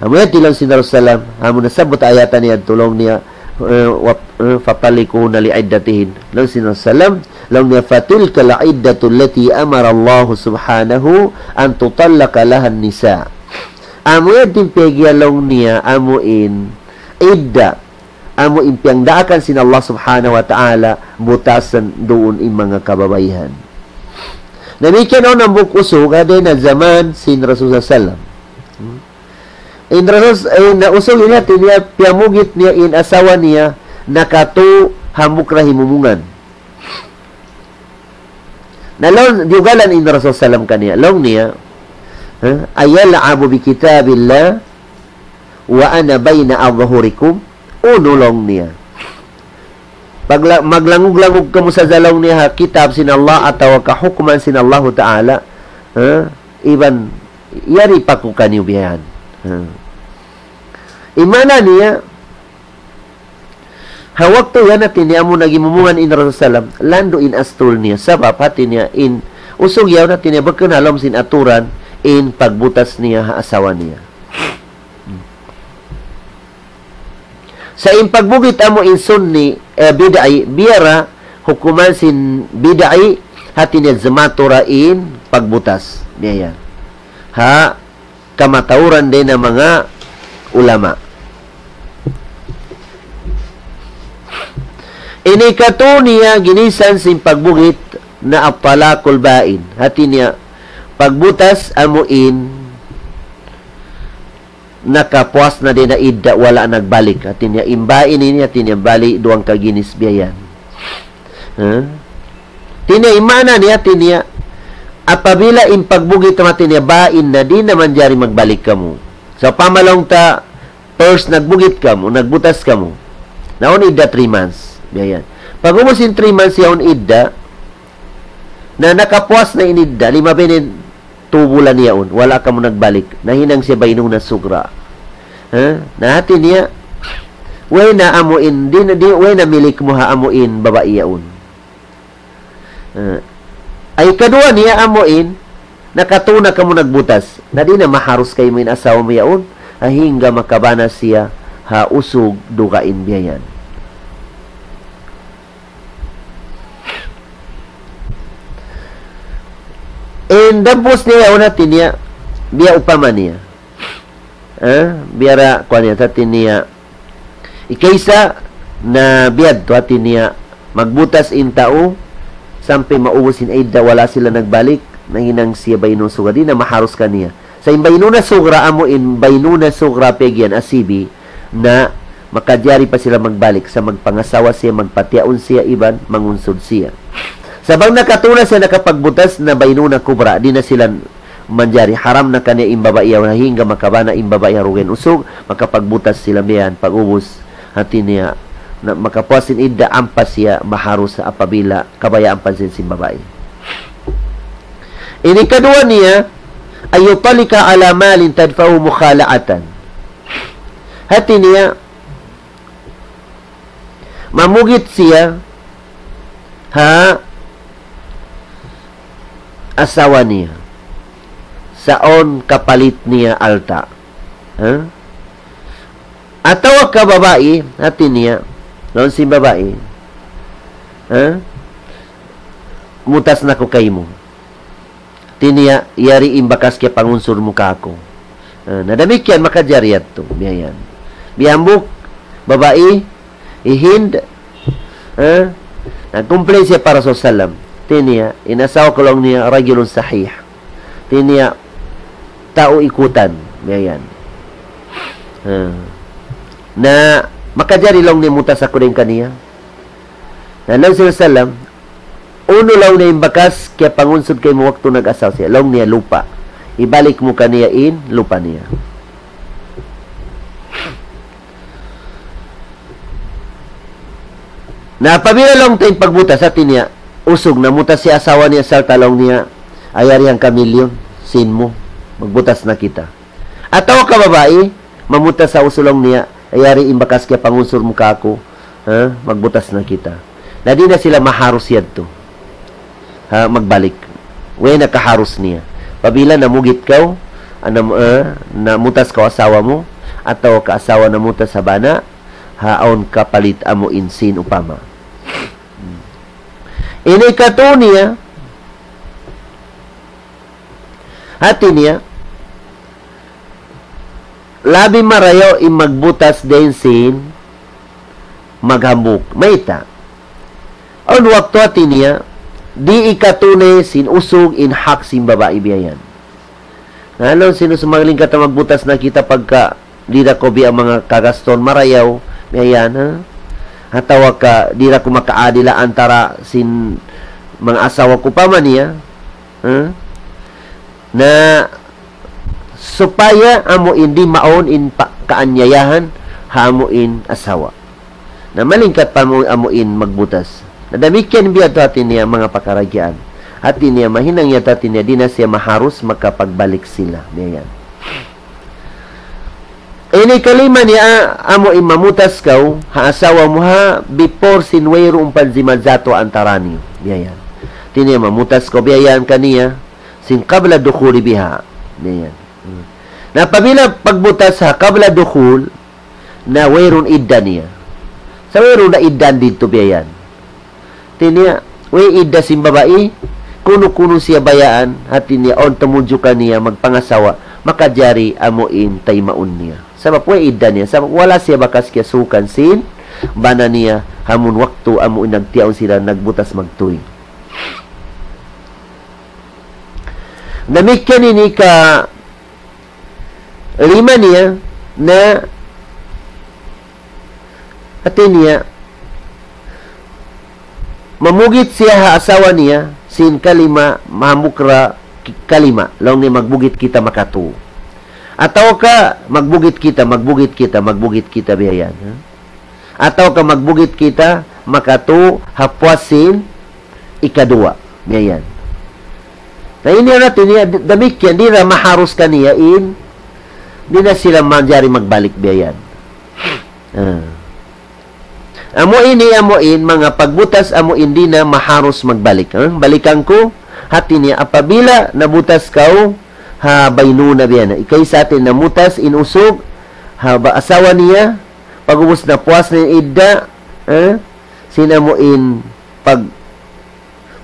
Amu yan laung sin Rasul sallam, amu nasabbut ayat niya, laung niya, eh, wa-, eh, "Fatalliquhunna li'iddatihin." Laung sin Rasul sallam, laung niya, "Fatilkal iddatu allati amara Allahu subhanahu an tutallaqa lahan nisa." Amu yan in piyag'iyan laung niya, amu in idda, amu in piyangdaakan sin Allah subhanahu wa ta'ala, butasan duun in manga kababaihan. Damikkiyan awn hambuuk usug, ha dayn ha jaman sin Rasul sallam. In Rasul, in usug ini hati niya piyamugit niya in asawa niya nakatū hambuuk ra himumungan. Na laung, diyugalan in Rasul sallam kaniya, laung niya, ha? "Ayal'abu bi kitabillah wa ana bayna adhhurikum?" Unu laung niya. Pagla-, maglangug-langug kamu sadja laung niya ha kitab sin Allah atawa kahukuman sin Allahu Ta'ala, ha? Iban yari pa ku kaniyu biya' yan. Ha. In maana niya, ha waktu yan hati niya amu naghimumungan in Rasul sallam, landu' in astul niya. Sabab hati niya in usug yaun hati niya bukun ha lawm sin aturan in pagbutas niya ha asawa niya. Sa' in pagbugit amu in sunni, eh, bid'i, biya' ra hukuman sin bid'i, hati niya zimatu ra in pagbutas. Biya' yan. Ha kamatauran dayn ha manga ulama. Ini katū niya ginisan sin pagbugit na at-talaqul ba'in. Hati niya, pagbutas amu in nakapuas na dayn ha idda, wala' nagbalik. Hati niya, in ba'in ini, hati niya, bali' duwang kaginis biya' yan. Ha? Hati niya, in maana niya, hati niya, apabila in pagbugit, hati niya, ba'in na, di' na manjari magbalik kamu. Sawpama laung ta, first nagbugit kamu, nagbutas kamu. Na awn idda three months. Biya' yan. Pag'ubus in three months yaun idda, na nakapuas na in idda, lima benen tubulan yaun, wala' kamu nagbalik. Nahinang siya bainuna sugra. Ha? Na hati niya, way na amu in, di' na, di', way na milik mu ha amu in babai yaun. Ha? Ay kaduwa niya amu in, nakatū na kamu nagbutas. Na di' na maharus kaymu in asawa mu yaun, ha hangga makabana siya ha usug dugaing biya' yan. In dampus niya yaun hati niya, biya' upama niya. Ha? Biya' ra, kuwan niya, hati niya. Ikaisa na biya' tu hati niya, magbutas in tau, sampay maubus in idda wala' sila nagbalik, nahinang siya baynuna sugra, di' na maharus kaniya. Sa' in baynuna sugra, amu in baynuna sugra piyag'iyan asibi, na makajari pa sila magbalik, sa' magpangasawa siya, magpatiyaun siya, iban mangunsud siya. Sa' bang nakatuna siya nakapagbutas na baynuna kubra, di' na sila manjari, haram na kaniya in babai yaun, hangkan makabana in babai ha dugaing usug, makapagbutas sila biya' yan, pag'ubus, hati niya, na, makapuas sin idda, ampa siya maharus apabila kabayaan pa sin, sin babai. In ikaduwa niya, أن يطلق على مال تدفعه مخالعة. Hati niya, mamugit siya ha asawa niya. Sa' awn kapalit niya alta'. Ha? Atawa ka babai, hati niya, laung sin babai, ha? Mutas na aku kaymu. Hati niya, yari in bakas kiyapangunsud mu kāku'. Ah, na damikkiyan makajari yadtu, biya' yan. Biya' hambuuk, babai, hi Hind, ah, nag-complain siya pa Rasul sallam. Hati niya, in asawa ku laung niya, رجل صحيح. Hati niya, tau ikutan, biya' yan. Ah. Na, makajari laung niya mutas aku dayn kaniya. Na laung sin Rasul sallam, unu laung niya in bakas kiyapangunsud kaymu waktu nag-asawa siya? Laung niya lupa'. Hibalik mu kaniya in lupa' niya. Na apabila laung ta in pagbutas, hati niya, usug namutas siya asawa niya, sarta' laung niya, yari hangka milyon, sīn mu, magbutas na kita. Atawa ka babai, mamutas ha usug laung niya, yari in bakas kiyapangunsud mu kāku', ha, magbutas na kita. Na di' na sila maharus yadtu. Ha, magbalik. Way na kaharus niya. Apabila namugit kaw, anam-, ah, namutas kaw asawa mu, atawa ka asawa namutas ha bana, ha awn kapalit amu in sīn upama. Ini katu' niya, hati niya, labi marayaw in magbutas dayn sin maghambuuk. Mayta'? Awn waktu hati niya, di' ikatunay sin usug in hak sin babai biya' yan. Na laung sin usug, malingkat magbutas na kita pagka di' da ku biya' manga kagaston marayaw, biya' yan, ha? Atawa ka di' da ku makaadil antara sin manga asawa ku upama niya, ha? Na supaya amu in di' mawn in pa-, kaanyayahan ha amu in asawa. Na malingkat pa amu, amu in magbutas. Na damikkiyan biya' tu hati niya manga pakaradjaan. Hati niya mahinang yadtu hati niya di' na siya maharus makapagbalik sila. Biya' yan. Ini kalima niya, amu in mamutas kaw ha asawa mu ha before sin wayruun pa zimazatu antara niyu. Biya' yan. Hati niya mamutas kaw biya' yan kaniya sin قبل الدخول بها. Biya' yan. Hmm. Na apabila pagbutas ha قبل الدخول, na wayruun idda niya. Sa' wayruun na idda didtu biya' yan. Hati niya, way idda sin babai, kunu-kunu siya bayaan, hati niya, awn tumudju kaniya magpangasawa, makajari amu in taymaun niya. Sabab way idda niya, sabab wala' siya bakas kiyasuukan sin bana niya, amun waktu amu in nagtiyaun sila nagbutas magtuy. Damikkiyan ini ka lima niya na hati niya mamugit siya ha asawa niya sin kalima, mahambuuk ra ki-, kalima, laung niya magbugit kita makatu. Atawa ka magbugit kita, magbugit kita, magbugit kita, biya' yan, ha? Atawa ka magbugit kita makatu ha puas sin ikaduwa. Biya' yan. Na ini na hati niya, d-, damikkiyan, di' na maharus kaniya in, di' na sila manjari magbalik biya' yan. Ah. Amu ini, amu in, manga pagbutas, amu in di' na maharus magbalik. Ha? Balikan ku, hati niya, apabila nabutas kaw, ha baynuna biya' na. Ikaisa hati namutas in usug, ha ba-, asawa niya, pag'ubus napuas na in idda, ha? Sin amu in pag-,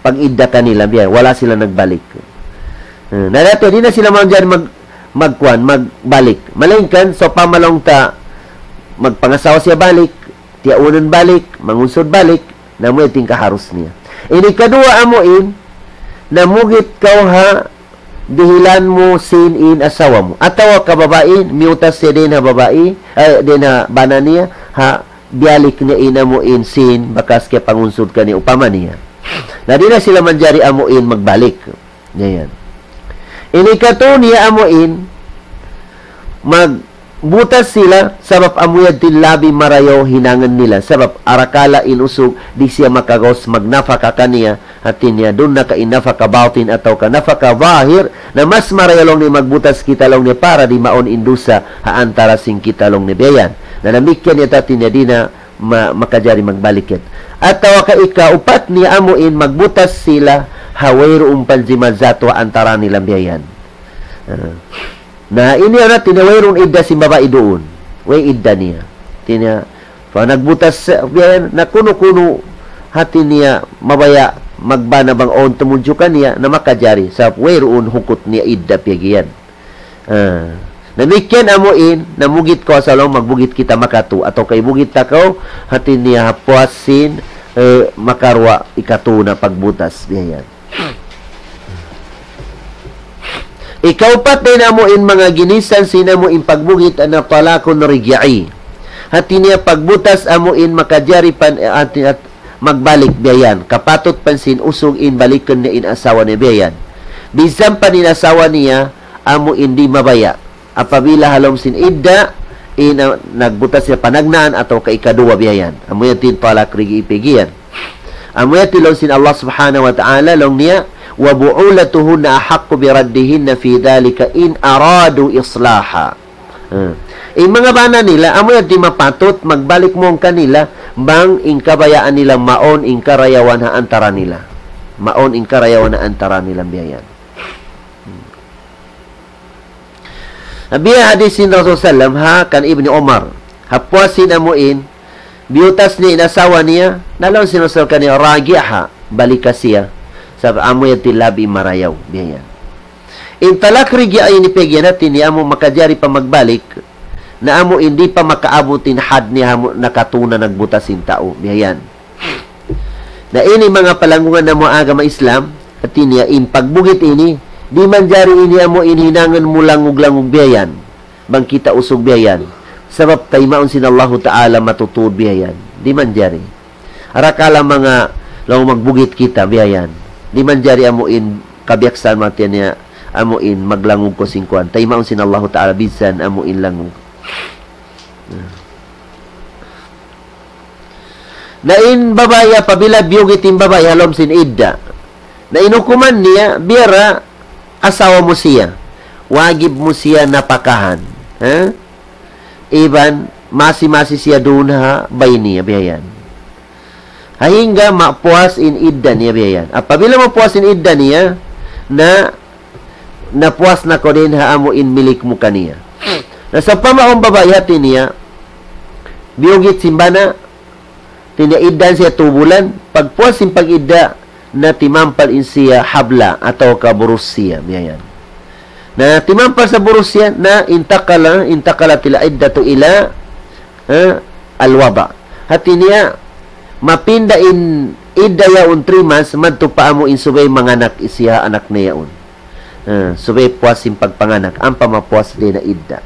pag-idda kanila, biya', wala' sila nagbalik. Eh, na dati, di' na sila manjari mag-, magkuan, magbalik. Malaingkan, sawpama laung ta, magpangasawa siya balik, tiyaunun balik, mangunsud balik, na amu yan in kaharus niya. Ini kaduwa amu in, namugit kaw ha dihilan mu sin in asawa mu. Atawa ka babai, miyutas siya dayn ha babai, eh, dayn ha bana niya, ha biyalik niya in amu in sin bakas kiyapangunsud kaniya upama niya. Na di' na sila manjari amu in magbalik. Yan. Ini katu niya amu in, magbutas sila, sabab amu yadtu in labi marayaw hinangun nila. Sabab arakala' in usug, di' siya makagaus magnapaka kaniya, hati niya, duun na ka in napaka batin atawa ka napaka zahir, na mas marayaw laung niya magbutas kita laung niya para di' mawn in dusa ha antara sin kita laung niya biya' yan. Na damikkiyan niya hati niya di' na ma-, makajari magbalik yan. Atawa ka ikaupat niya amu in magbutas sila ha wayruun panjimajatu ha antara nila biya' yan. Ah. Na ini na hati niya wayruun idda sin babai duun. Way idda niya. Hati niya, pa nagbutas, eh, biya' yan, na kunu-kunu hati niya mabaya' magbana bang awn tumudju kaniya, na makajari. Sabab wayruun hukut niya idda piyag'iyan. Ah. Damikkiyan amu in, namugit kaw asawa mu, magbugit kita makatu, atawa ka ibugit ta kaw, hati niya ha puas sin, eh, makaruwa ikatu na pagbutas, biya' yan. Ikaupat dayn amu in manga ginisan sin amu in pagbugit na talakun rij'i. Hati niya pagbutas amu in makajari pan, eh, hati, hat-, magbalik biya' yan. Kapatut pan sin usug in balikun niya in asawa niya biya' yan. Bisan pan in asawa niya, amu in di' mabaya'. Apabila ha lawm sin idda, in, ah, nagbutas siya panagnaan atawa ka ikaduwa biya' yan. Amu yan in talak rij'i piyag'iyan. Amu yan in laung sin Allah Subhanahu wa Ta'ala, laung niya, وبعولتهن أحق بردهن في ذلك إن أرادوا إصلاحا. Ah. In manga bana nila, amu yan in mapatut magbalik mawn kanila, bang in kabayaan nila mawn in karayawan ha antara nila. Mawn in karayawan ha antara nila biya' yan. Hmm. Biya' hadis sin Rasul sallam, ha, kan Ibni Umar. Ha puas sin amu in, biyutas niya in asawa niya, na laung sin Rasul kaniya, "Raji'ha, balika siya. Sabab amu yan in labi marayaw," biya' yan. In talak rij'i ini piyag'iyan hati niya amu makajari pa magbalik, na amu in di' pa makaabut in had niya amu nakatuna nagbutas in tau, biya' yan. Na ini manga palanggungan namu' agama Islam, hati niya in pagbugit ini, di' manjari ini amu in hinangun mu langug-langug biya' yan. Bang kita usug biya' yan. Sabab taymaun sin Allahu Ta'ala matutud biya' yan. Di' manjari. Arakala' manga laung magbugit kita biya' yan. Di' manjari amu in kabiyaksahan mu hati niya, amu in maglangug kaw sin kuwan. Taymaun sin Allahu Ta'ala bisan amu in langug. Na in babai apabila biyugit in babai ha lawm sin idda. Na in hukuman niya, biya' ra asawa mu siya. Wajib mu siya napakahan. Ha? Iban masi-masi siya duun ha bay niya, biya' yan. Hangga mapuas in idda niya, biya' yan. Apabila mapuas in idda niya, na napuas na kaw dayn ha amu in milik mu kaniya. Na sawpama awn babai hati niya, biyugit sin bana, hati niya iddahan siya tū bulan, pagpuas sin pag-idda, na timampal in siya habla atawa ka burus siya, biya' yan. Na timampal sa burus siya, na انتقل، انتقلت العدة إلى, eh, الوضع. Hati niya, mapinda in idda yaun three months, madtu pa amu in subay manganak siya anak niya yaun. Eh, subay puas in pagpanganak, ampa mapuas dayn ha idda.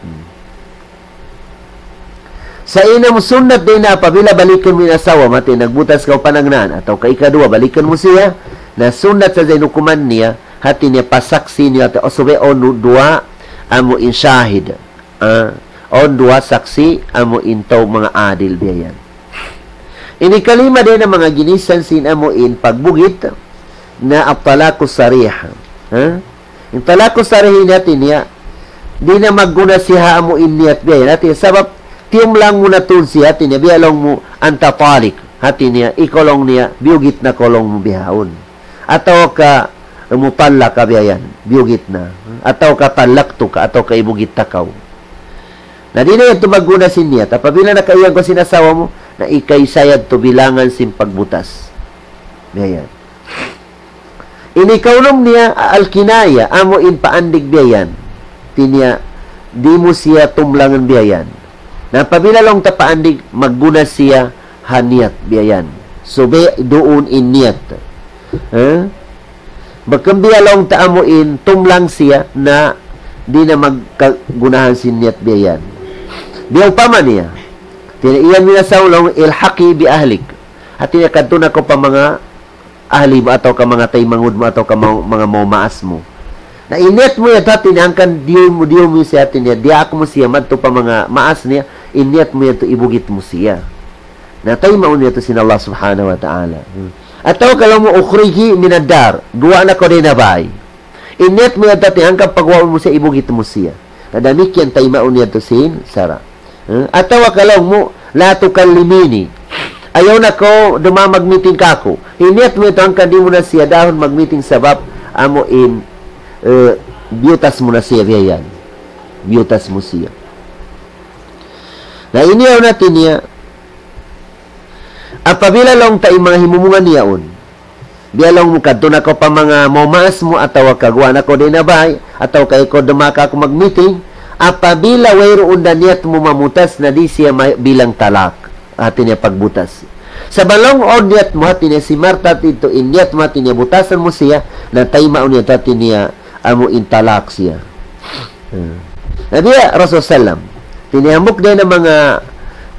Hmm. Sa' in amu sunnat dayn ha apabila balikun mu in asawa mu, hati nagbutas kaw panagnaan, atawa ka ikaduwa, balikun mu siya, na sunnat sadja in hukuman niya, hati niya pasaksi niya, hati, o subay awn duwa, amu in shahid. Ah, awn duwa saksi, amu in tau manga adil biya' yan. Ini kalima dayn ha manga ginisan sin amu in pagbugit na at-talaqu sarih. Ha? In talaqu sarih ini hati niya, di' na magguna siya ha amu in niyat biya' yan. Hati niya, sabab tiyumlang mu na tuud siya, hati niya, biya' laung mu anta talik. Hati niya, ikaw laung niya, biyugit na kaw laung mu bihaun. Atawa ka mutallaq ka biya' yan, biyugit na. Atawa ka tallaqtuka, atawa ka ibugit ta kaw. Na di' na yadtu magguna sin niyat. Apabila nakaiyan kaw sin asawa mu, na ikaisa yadtu bilangan sin pagbutas. Biya' yan. Ini kaunum niya al-kinaya, amu in paandig biya' yan. Hati niya, di' mu siya tumlangan biya' yan. Na apabila laung ta paandig, magguna siya ha niyat biya' yan. Subay duun in niyat. Ha? Bang biya' laung ta amu in tumlang siya na di' na magkagunahan sin niyat biya' yan. Biya' upama niya. Hati niya iyan mina sa laung, "Ilhaqi bi ahlik." Hati niya kadtu na kaw pa manga ahli mu atawa ka manga taymanghud mu atawa ka ma-, manga mamaas mu. Na in niyat mu yadtu hati niya hangkan diyum mu, diyum mu siya hati niya, diyaak mu siya madtu pa manga maas niya, in niyat mu yadtu ibugit mu siya. Na taymaun niya yadtu sin Allah Subhanahu wa Ta'ala. Hmm. Atawa ka laung mu, "Ukhriji minad dar," guwa' na kaw dayn ha bāy. In niyat mu yadtu hati niya hangkan pagguwa' mu siya, ibugit mu siya. Na damikkiyan taymaun niya yadtu sin sara'. Eh, atawa ka laung mu, "La tukallimini." Ayaw na kaw duma mag-meeting kāku'. In niyat mu yadtu hangkan di' mu na siya dahun mag-meeting sabab amu in, eh, biyutas mu na siya biya' yan. Biyutas mu siya. Na ini yaun hati niya, apabila laung ta in manga himumungan niya yaun, biya' laung mu kadtu na kaw pa manga mamaas mu atawa ka guwa' na kaw dayn ha bāy, atawa ka ikaw duma kāku' mag-meeting, apabila wayruun da niyat mu mamutas na di' siya ma-, bilang talak. Hati niya pagbutas. Sa' bang laung awn niyat mu hati niya si Marta yadtu in niyat mu hati niya butasan mu siya, na taymaun niya hati niya amu in talak siya. Hmm. Na biya' Rasul sallam. Hati niya hambuuk dayn ha manga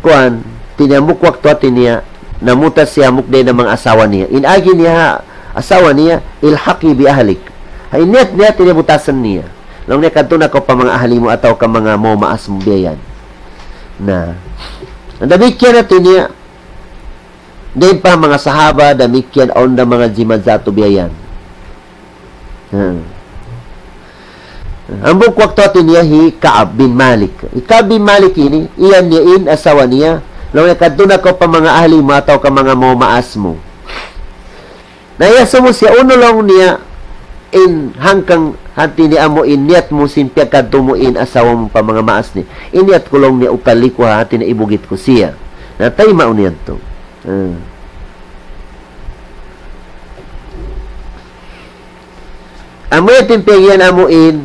kuwan, hati niya hambuuk waktu hati niya, namutas siya hambuuk dayn ha manga asawa niya. In agi niya ha asawa niya, "Ilhaqi bi ahlik." Ha in niyat niya, hati niya butasan niya. Laung niya kadtu na kaw pa manga ahli mu atawa ka manga mamaas mu biya' yan. Na. Damikkiyan hati niya, dayn pa manga sahaba, damikkiyan awn da manga jimatu biya' yan. Hmm. Hambuuk waktu hati niya hi Ka'ab bin Malik. Hi Ka'ab bin Malik ini, iyan niya in asawa niya, laung niya kadtu na kaw pa manga ahli mu atawa ka manga mamaas mu. Na iyasubu siya, "Unu," laung niya, "in hangkan hati niya amu in niyat mu sin piyagkadtu mu in asawa mu pa manga maas niya?" "In niyat ku," laung niya, "utallikuha," hati niya ibugit ku siya. Na taymaun niya yadtu. Hmm. Amu yadtu in piyag-iyan amu in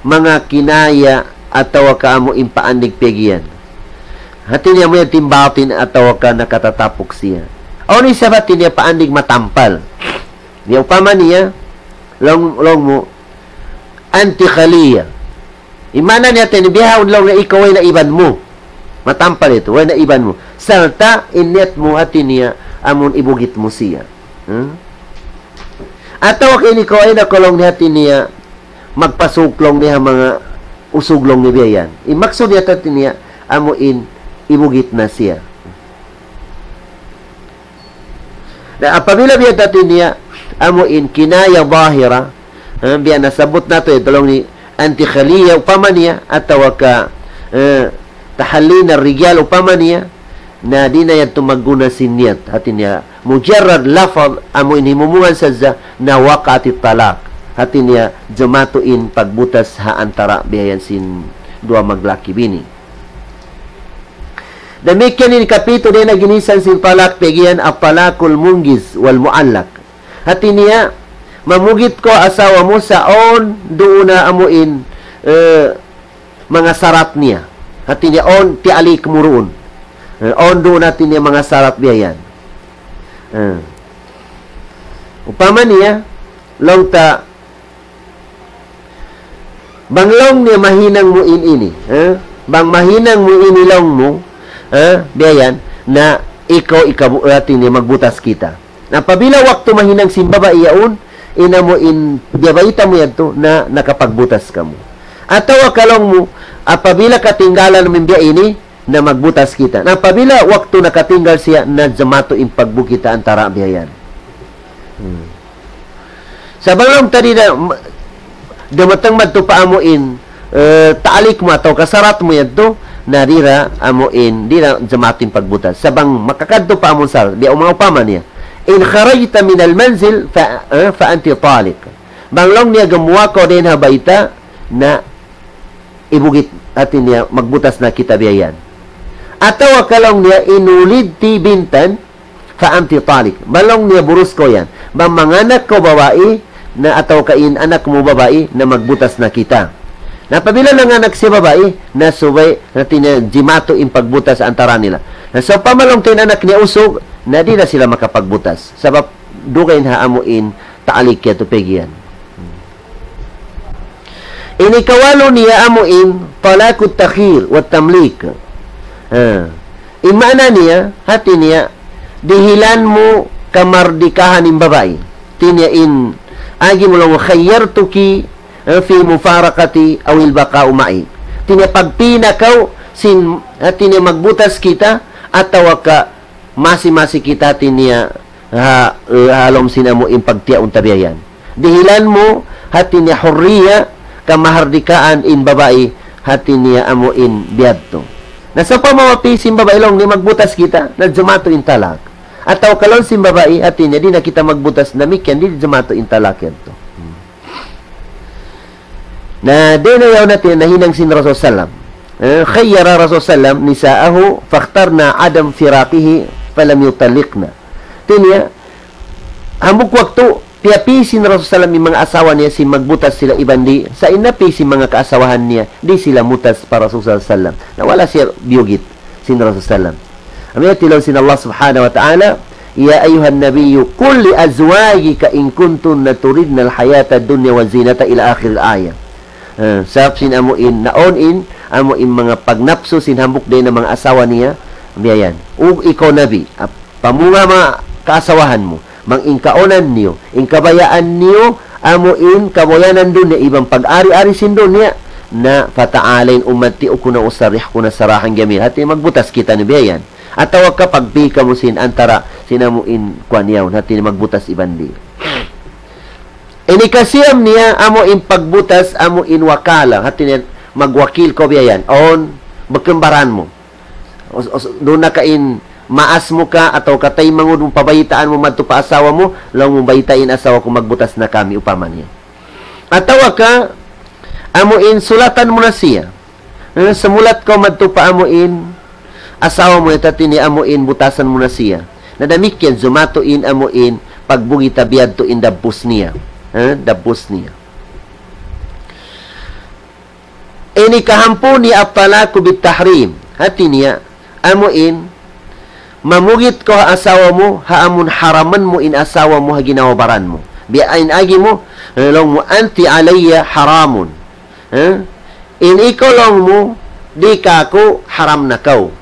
manga kinaya atawa ka amu in paandig piyag-iyan. Hati niya amu yadtu in batin atawa ka nakatatapuk siya. Awn isab hati niya paandig matampal. Biya' upama niya, laung, laung mu, "Anti khaliya." In maana niya hati niya, bihaun laung niya ikaw way na iban mu. Matampal yadtu, way na iban mu. Sarta' in niyat mu hati niya, amun ibugit mu siya. Hmm? Atawa ka ini kaw way na kaw laung niya hati niya, magpasuk laung niya ha manga usug laung niya biya' yan. In maksud niya hati niya, amu in ibugit na siya. Na apabila biya' hati niya, amu in kinaya zahira, ha, biya' nasabbut natu' yadtu laung niya anti khaliya upama niya, atawa ka, eh, tahallina rijal upama niya, na di' na yadtu magguna sin niyat. Hati niya, mujarrad lafaz, amu in himumungan sadja, na waqa'atit talaq. Hati niya, jumatu in pagbutas ha antara' biya' yan sin duwa maglaki-bini. Damikkiyan in kapitu dayn ha ginisan sin talak, piyag-iyan at-talaqul munjiz wal mu'allaq. Hati niya, mamugit kaw asawa mu sa' awn duun na amu in, eh, manga sarat niya. Hati niya, awn tialik mu duun. Eh, awn duun hati niya manga sarat biya' yan. Eh. Upama niya, laung ta, bang laung niya mahinang mu in ini, ha? Bang mahinang mu ini laung mu, ha? Biya' yan, na ikaw ikabu-, hati niya magbutas kita. Na apabila waktu mahinang sin babai yaun, in amu in biyabayta' mu yadtu, na nakapagbutas kamu. Atawa ka laung mu, apabila katinggalan mu in biya' ini, na magbutas kita. Na apabila waktu nakatinggal siya, na jumatu in pagbutas kita antara' biya' yan. Hmm. Sa' bang laung ta di' na, ma-, dumatung madtu pa amu in, eh, talik mu atawa ka sarat mu yadtu, na di' da amu in, di' da jumatu in pagbutas. Sa' bang makakadtu pa amu in sarat, biya' uma-, upama niya. In kharajta minal manzil fa, eh, fa anti taliq. Bang laung niya gumuwa' kaw dayn ha bayta', na ibugit, hati niya, magbutas na kita biya' yan. Atawa ka laung niya, in wulidti bintan, fa anti taliq. Bang laung niya burus kaw yan. Bang manganak kaw babai, na atawa ka in anak mu babai na magbutas na kita. Na apabila nanganak siya babai, na subay, na hati niya jimatu in pagbutas antara nila. Na sawpama laung ta in anak niya usug, na di' na sila makapagbutas. Sabab dugaing ha amu in ta'liq yadtu pag'iyan. Ini kawalu niya amu in talaqut takhyir wa tamlik. Ha. In maana niya, hati niya, dihilan mu kamardikahan in babai. Hati niya in agi mu laung, khayyartuki, eh, fi mufaraqati awil baqa'u ma'i. Hati niya pagpī na kaw sin, hati niya magbutas kita, atawa ka masi-masi kita hati niya ha, ha lawm sin amu in pagtiyaun ta biya' yan. Dihilan mu hati niya hurriya, kamahardikaan in babai hati niya amu in biyadtu. Na sawpama mapī sin babai laung niya magbutas kita, na jimatu in talak. Atawa ka laung sin babai hati niya di' na kita magbutas, damikkiyan di' jimatu in talak yadtu. Na dayn ha yaun hati nahinang sin Rasul sallam. Eh, khayyara Rasul sallam nisa'ahu fakhtarna adam firaqihi falam yutalliqna. Hati niya, hambuuk waktu, piyapī sin Rasul sallam in manga asawa niya sin magbutas sila iban di', sa' in napī sin manga kaasawahan niya, di' sila mutas pa Rasul sallam. Na wala' siya biyugit sin Rasul sallam. Amu yan in laung sin Allah subhanahu wa ta'ala, يا أيها النبي قل لأزواجك إن كنتن تردن الحياة الدنيا وزينتها إلى آخر الآية. Eh, sabab sin amu in, naun in, amu in manga pagnapsu sin hambuuk dayn ha manga asawa niya, biya' yan. Ug ikaw Nabi, ap-, pamunga manga kaasawahan mu, bang in kaunan niyu, in kabayaan niyu, amu in kabuyanan dunya, iban pag-ari-ari sin dunya, na فتعالين أمتعكن وأسرحكن سراحا جميلا. Hati magbutas kita ini biya' yan. Atawa ka pagpī kamu sin antara sin amu in kuwan yaun, hati magbutas iban di'. Ini kasiyam niya amu in pagbutas amu in wakala, hati niya magwakil kaw biya' yan. Awn, bukun baran mu. Us-, us-, duun na ka in maas mu ka atawa ka taymanghud mu pabaytaan mu madtu pa asawa mu, laung mu baytai in asawa ku magbutas na kami upama niya. Atawa ka, amu in sulatan mu na siya. Eh, sumulat kaw madtu pa amu in asawa mu, hati niya amu in butasan mu na siya. Na damikkiyan jimatu in amu in pagbugit ta biyadtu in dabbus niya. Eh, dabbus niya. Ini kahāmpu niya الطلاق بالتحريم. Hati niya, amu in, mamugit kaw ha asawa mu, ha amun haraman mu in asawa mu ha ginhawa-baran mu. Biya' in agi mu, laung mu, أنت علي حرام. Eh? In ikaw laung mu, di' kāku' haram na kaw.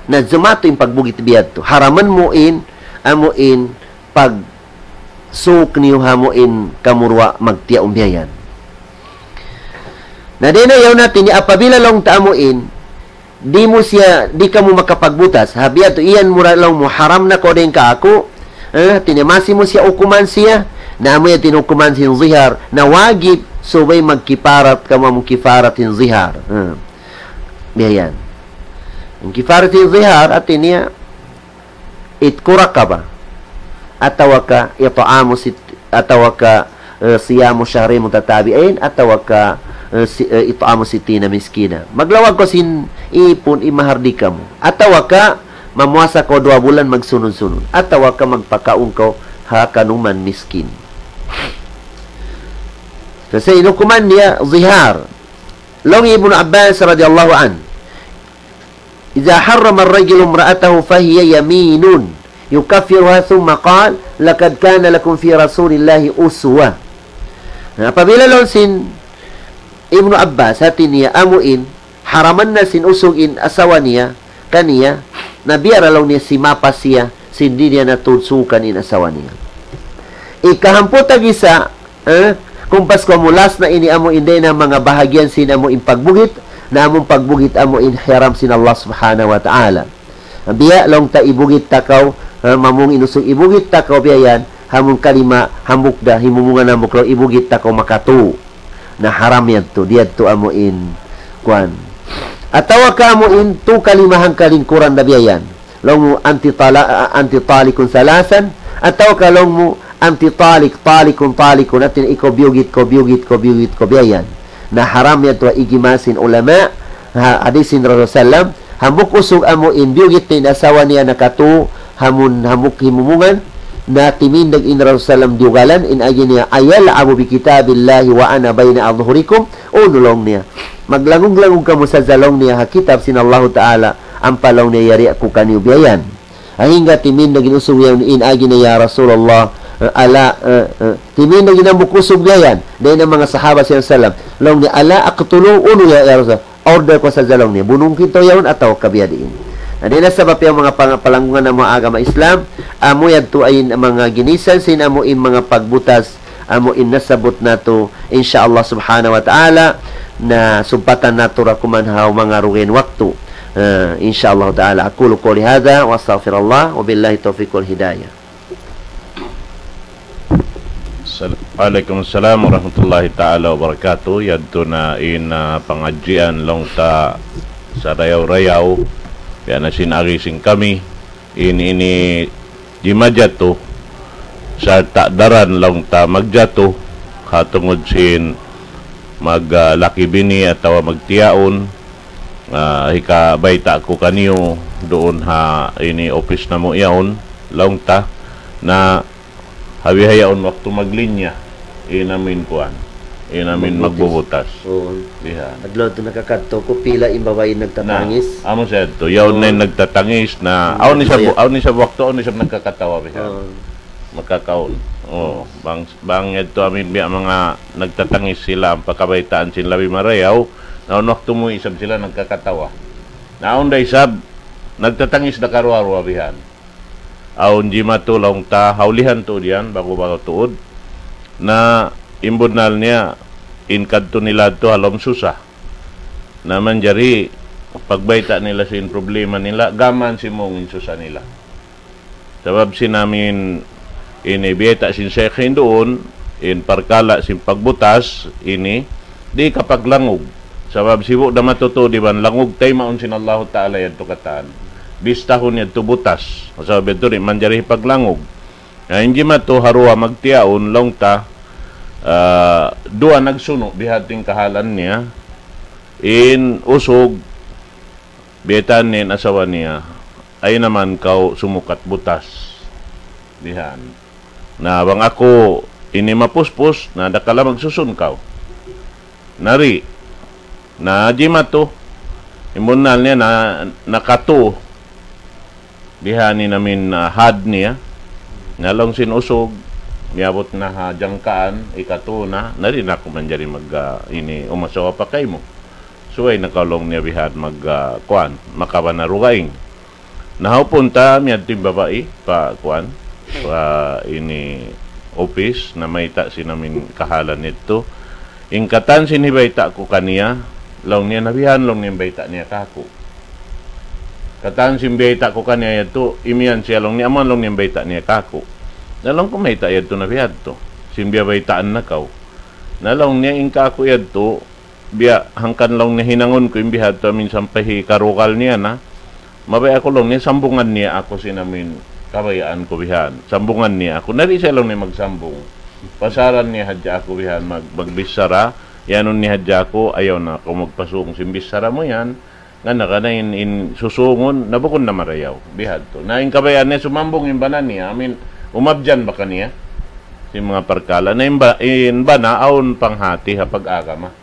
Na jimatu in pagbugit biyadtu. Haraman mu in, amu in, pagsuuk niyu ha amu in kamu duwa magtiyaun biya' yan. Na dayn ha yaun hati niya apabila laung ta amu in, di' mu siya, di' kamu makapagbutas, ha biyadtu iyan mu ra laung mu haram na kaw dayn kāku', eh, hati niya masi mu siya hukuman siya, na amu yan in hukuman sin zihar, na wajib subay magkifarat kamu amu kifarat sin zihar. Eh, biya' yan. In kifarat sin zihar, hati niya, عتق رقبة, atawa ka إطعام ست-, atawa ka, eh, صيام شهرين متتابعين, atawa ka, eh, si-, eh, إطعام ستين مسكينا. Maglawag kaw sin ipun in mahardika mu. Atawa ka mamuasa kaw duwa bulan magsunun-sunun. Atawa ka magpakaun kaw ha kanuman miskin. Sa' in hukuman niya zihar. Laung Ibnu Abbas radiyallahu anhu, إذا حرم الرجل امرأته فهي يمين يكفرها ثم قال: لقد كان لكم في رسول الله أسوة. Na apabila laung sin Ibnu Abbas, hati niya amu in, haraman na sin usug in asawa niya, kaniya, na biya' ra laung niya simapa siya, sin di' niya na tuud suukan in asawa niya. Ikahāmpu tagisa, eh, kumpas ku amu last na ini amu in dayn ha manga bahagian sin amu in pagbugit, na amu in pagbugit amu in hiyaram sin Allah Subhanahu wa Ta'ala. Biya' laung ta ibugit ta kaw, eh, mamung in usug ibugit ta kaw biya' yan, ha amu in kalima hambuuk da, himumungan hambuuk laung ibugit ta kaw makatu. Na haram yadtu, di' yadtu amu in kuwan. Atawa ka amu in tu kalima hangka lingkuran da biya' yan. Laung mu أنت طلا-, أنت طالق ثلاثا, atawa ka laung mu أنت طالق، طالق، طالق, hati niya ikaw biyugit, kaw biyugit, kaw biyugit, kaw biya' yan. Na haram yadtu ha ijma' sin ulama, ha hadis sin Rasul sallam, hambuuk usug amu in biyugit in asawa niya nakatu, ha amu in hambuuk himumungan, Na timindag in Rasul sallam diyugalan, in agi niya, "أيلعب بكتاب الله وأنا بين أظهركم." Unu laung niya. Maglangug-langug kamu sadja laung niya ha kitab sin Allahu Ta'ala, ampa laung niya yari aku kaniyu biya' yan. Hangkan timindag in usug yan, in agi niya, "Ya Rasulullah, eh, ala, eh, eh." Timindag in hambuuk usug biya' yan. Dayn ha manga sahaba sin Rasul sallam. Laung niya, "ألا أقتله؟" Unu ya, ya Rasul. Order ku sadja laung niya, bunun kitaniyu yaun atawa ka biya' diin. Na, dayn ha sabab yan manga pang-, palanggungan namu' ha agama Islam, amu yadtu in manga ginisan sin amu in manga pagbutas, amu in nasabbut natu', insya Allah subhanahu wa ta'ala, na sumpatan natu' ra kuman ha manga dugaing waktu. Eh, insya Allah ta'ala. أقول قولي هذا وأستغفر الله وبالله التوفيق والهداية. Sal-, Waalaikumsalam warahmatullahi ta'ala wabarakatuh. Yadtu na in, ah, pangadjian laung ta sarayaw-rayaw. Biya' na sin agi sin kami. In, ini jimajatu. Sarta' daran laung ta magjatu. Ha tungud sin mag, ah, laki bini atawa magtiyaun. Ah, hikabayta' ku kaniyu duun ha ini office namu' yaun, laung ta, na ha bihaun waktu maglinya, in amin kuwan, in amin magbubutas. Magbubutas. Oo. Bihan. Adlaw tu nakakadtu ku pila in babai nagtatangis. Na, amu sa yadtu. Yaun na in nagtatangis na, awn isab, awn isab waktu, awn isab nagkakatawa bihan. Oo. Makakaun. Oo. Bang, bang yadtu amin biya' manga nagtatangis sila, ampa kabaytaan sin labi marayaw, na awn waktu mu isab sila nagkakatawa. Na awn da isab, nagtatangis da karuwa-ruwa bihan. Awn jimatu laung ta, ha ulihan tuud yan, bagu-bagu tuud. Na in bunnal niya, in kadtu nila tu ha lawm susa. Na manjari, pagbayta' nila sin problema nila, gam mayan simūng in susa nila. Sabab sin amin ini biyayta' sin Sheikh hinduun, in parkala' sin pagbutas ini, di' kapaglangug. Sabab sibu' da matutuud iban langug taymaun sin Allahu Ta'ala yadtu katan. Bistahun yadtu butas. Sabab yadtu di' manjari paglangug. Na in jimatu ha duwa magtiyaun laung ta, ah, duwa nagsunu' biha' in kahalan niya. In usug, biyaytaan niya in asawa niya, "Ayaw na man kaw sumukat butas." Bihan. Na bang aku ini mapuspus, na dakala magsusun kaw. Nari. Na jimatu. In bunnal niya na nakatu. Bihan in amin, ah, had niya. Na laung sin usug, miyabut na ha jangkaan, ikatu na, nari na aku manjari mag, ah, ini umasawa pa kaymu. Subay na kaw laung niya bihan mag, ah, kuwan, makabana dugaing. Na ha upun ta, miyadtu in babai, pa kuwan, pa ini office, na mayta' sin amin kahalan yadtu. In katan sin hibayta' ku kaniya, laung niya na bihan, laung niya in bayta' niya kāku'. Katan sin biyayta' ku kaniya yadtu, imiyan siya laung niya, amu yan laung niya in bayta' niya kāku'. Na laung ku mayta' yadtu na bihadtu. Sin biyabaytaan na kaw. Na laung niya in kāku' yadtu, biya' hangkan laung niya hinangun ku in bihadtu amin sampay hikarugal niya na. Mabaya' aku laung niya sambungan niya aku sin amin kabayaan ku bihan. Sambungan niya aku. Nari siya laung niya magsambung. Pasaran niya hadja aku bihan mag-, magbichara. Iyanun niya hadja aku, ayaw na aku magpasung sin bichara mu yan. Ngana ka na in, in susungun, na bukun na marayaw. Bihadtu. Na in kabayaan niya sumambung in bana niya, amin, umabyan ba kaniya? Sin manga parkala'. Na in ba-, in bana, awn panghati ha pag-agama.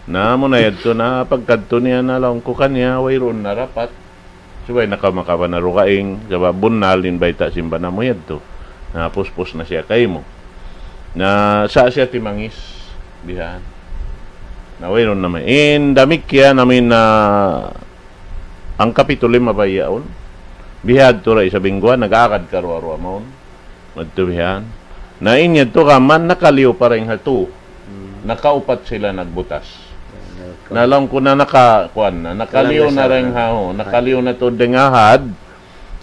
Na, amu na yadtu na, pagkadtu niya na laung ku kaniya, wayruun na dapat. Subay na kaw makabana dugaing, sabab bunnal in bayta' sin bana mu yadtu. Na, puspus na siya kaymu. Na, sa' siya timangis, bihan. Na, wayruun na may. In damikkiyan, amin na, hangkapituli' mabayaun. Bihadtu ra isab in guwa, nag-agad karuwa-ruwa mawn. Madtu bihan. Na in yadtu kaman nakaliyu pa dayn ha tu. Hmm. Nakaupat sila nagbutas. Na laung ku na naka-, kuwan na, nakaliyu na dayn ha, oh, nakaliyu na tuud dayn ha had.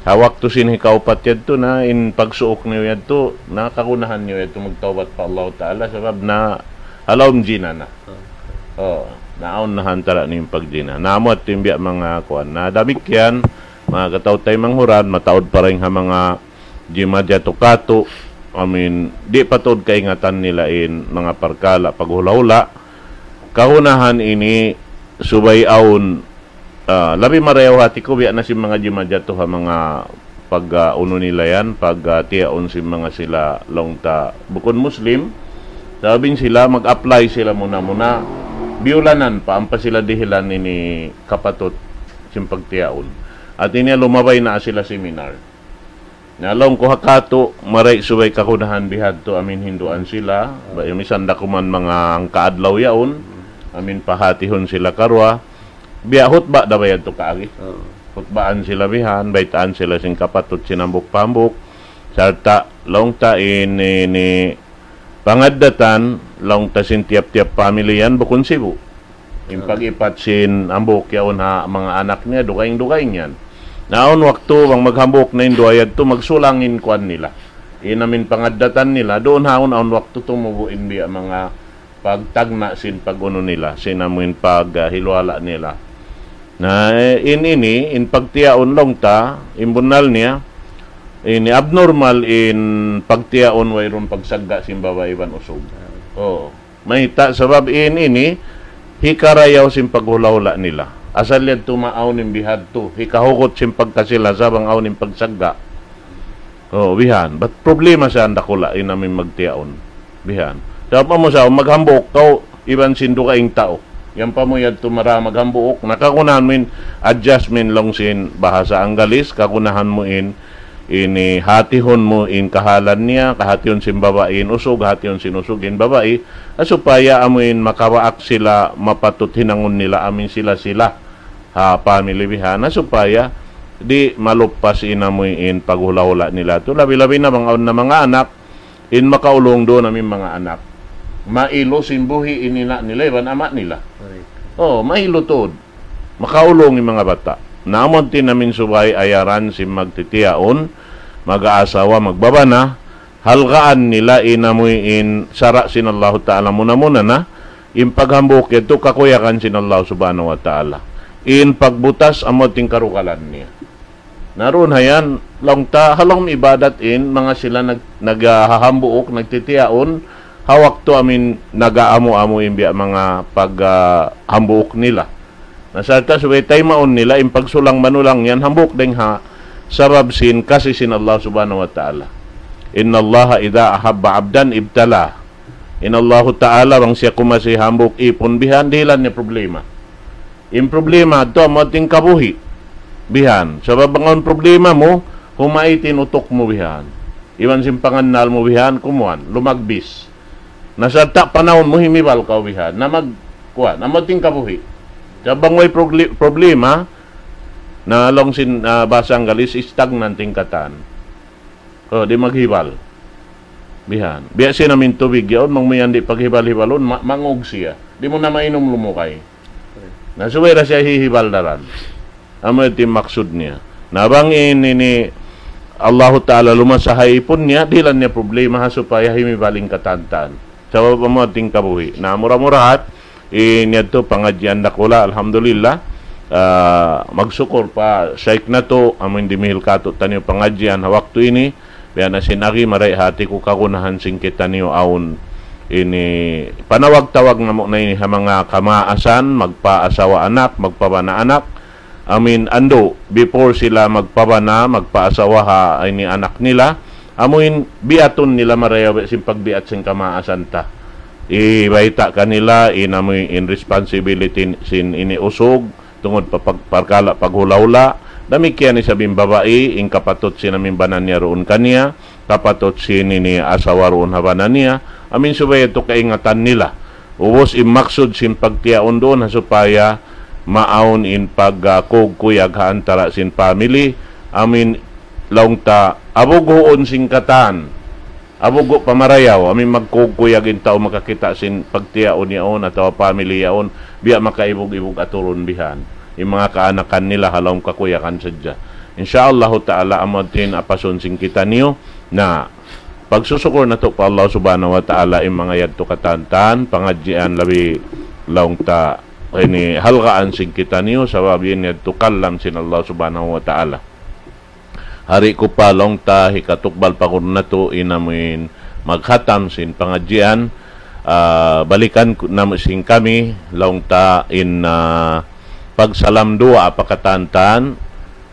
Ha waktu sin hikaupat yadtu na, in pagsuuk niyu yadtu, na kagunahan niyu yadtu magtawbat pa Allah Ta'ala, sabab na ha lawm jina na. Okay. Oh, naawn na ha antara' niyu in pagjina. Na amu yadtu in biya' manga kuwan. Na damikkiyan, manga kataw-taymanghuran, mataud pa dayn ha manga jimajatu katu', I mean, di' pa tuud kaingatan nila in manga parkala' paghula'-hula'. Kagunahan ini subay awn, ah, labi marayaw hati ku biya' na sin manga jimajatu ha manga pag, ah, unu nila yan, pag, ah, tiyaun sin manga sila laung ta bukun Muslim, sabab in sila mag-apply sila muna-muna, biyulanan pa, ampa sila dihilan ini kapatut sin pagtiyaun. At ini lumabay na sila seminar. Na laung ku ha katu', maray' subay kagunahan bihadtu amin hinduan sila, ba, misan da kuman manga hangka adlaw yaun, amin pahatihun sila karuwa, biya' hutba da ba yadtu kaagi. Oo. Hutbaan sila bihan, baytaan sila sin kapatut sin hambuuk pa hambuuk. Sarta' laung ta in, in, in pangaddatan, laung ta sin tiyap-tiyap pamilya yan, bukun sibu'. In pag-ipat sin hambuuk yaun ha manga anak niya, dugaing-dugaing yan. Na awn waktu, bang maghambuuk na in duwa yadtu, magsulang in kuwan nila. In amin pangaddatan nila, duun ha awn, awn waktu tumubu' in biya' manga pagtagna' sin pag-unu nila, sin amuin pag, ah, hiluhala' nila. Na, eh, in ini, in pagtiyaun laung ta, in bunnal niya, ini abnormal in pagtiyaun wayruun pagsagga' sin babai iban usug. Oo. Mayta', sabab in ini, hikarayaw sin paghula'-hula' nila. Asal yadtu maawn in bihadtu, hikahugut sin pagkasi-lasa bang awn in pagsagga'. Oo, bihan. Bat problema sa dakula' in amin magtiyaun. Bihan. Sabab amu sa, maghambuuk kaw, iban sin dugaing tau. Yan pa mu yadtu mara maghambuuk, na kagunahan mu in adjustment laung sin bahasa Anggalis, kagunahan mu in, ini hatihun mu in kahalan niya, kahatihun sin babai in usug, hatihun sin usug in babai, ah, supaya amu in makawaak sila mapatut hinangun nila amin sila-sila. Ha, pamili bihan, ah, supaya di' maluppas in amu in paghula'-hula' nila tu. Labi-labi na bang awn na manga anak, in makaulung duun amin manga anak. Mailu sin buhi' in ina' nila iban ama' nila. Correct. Oo, mailu tuud. Makaulung in manga bata'. Na amu in amin subay ayaran sin magtitiyaun, mag-aasawa, magbabana, halgaan nila in amu in sara' sin Allahu Ta'ala muna-muna na, in paghambuuk yadtu kakuyagan sin Allah Subhanahu wa Ta'ala. In pagbutas amu in karugalan niya. Na duun ha yan, laung ta, ha lawm ibadat in, manga sila nag-, naghahambuuk, nagtitiyaun, ha waktu amin nag-aamu-amu in biya' manga pag, ah, hambuuk nila. Na sarta' subay taymaun nila, in pagsulang-manulang yan, hambuuk dayng ha, sabab sin kasi sin Allah Subhanahu wa Ta'ala. إن الله إذا أحب عبدا ابتلاه. In Allahu Ta'ala, bang siya kumasi hambuuk ipun bihan, dihilan niya problema. In problema, ito, amu in kabuhi'. Bihan. Sabab bang awn problema mu, humait in utuk mu bihan. Iban sin pangannal mu bihan, kumuan, lumagbis. Na sarta' panahun mu himibal kaw bihan. Na mag, kuan, amu in kabuhi'. Sabab bang way progli-, problema, na laung sin, ah, bahasa Anggalis, stagnant in katan. Oh, di' maghibal. Bihan. Biya' sin amin tubig yaun, bang mu yan di' paghibal-hibalun, ma-, mangug siya. Di' mu na mainum lumukay. Na subay da siya hihibal daran. Amu yadtu in maksud niya. Na bang in ini Allahu Ta'ala lumasa ha ipun niya, dihilan niya problema ha supaya himibal in katan-katan. Sabab amu yadtu in kabuhi'. Na mura-murahan, in yadtu pangadjian dakula', alhamdulillah. Ah, magsukul pa Shaykh natu', amu in dimihil kātu'niyu pangadjian ha waktu ini, biya' na sin agi maray' hati ku kagunahan sin kitaniyu awn ini panawag-tawag namu' na ini ha manga kamaasan, magpaasawa anak, magpabana anak, amu in andu', before sila magpabana, magpaasawa ha ini anak nila, amu in biatun nila marayaw sin pagbiat sin kamaasan ta. Ibayta' kanila in amu in responsibility sin ini usug, tungud pa pag-, parkala' paghula'-hula', damikkiyan isab in babai, in kapatut sin amu in bana niya duun kaniya, kapatut sin ini asawa duun ha bana niya, amu in subay yadtu kaingatan nila. Ubus in maksud sin pagtiyaun duun ha supaya maawn in pag, ah, kugkuyag ha antara' sin family, amu in laung ta abughuun sin katan. Abugu' pa marayaw, amu in magkugkuyag in tau makakita' sin pagtiyaun yaun atawa family yaun, biya' makaibug-ibug aturun bihan. In manga kaanakan nila ha lawm kakuyagan sadja. Insya Allahu Ta'ala, amu yadtu in apasun sin kitaniyu, na pagsusukul natu' pa Allah Subhanahu wa Ta'ala, in manga yadtu katan-katan, pangadjian labi laung ta ini halgaan sin kitaniyu, sabab in yadtu kalam sin Allah Subhanahu wa Ta'ala. Hari ku pa laung ta hikatukbal pa guru natu' in amu in maghatam sin pangadjian, ah, balikan ku namu' sin kami laung ta in, ah, pagsalam duwaa pa katan-katan,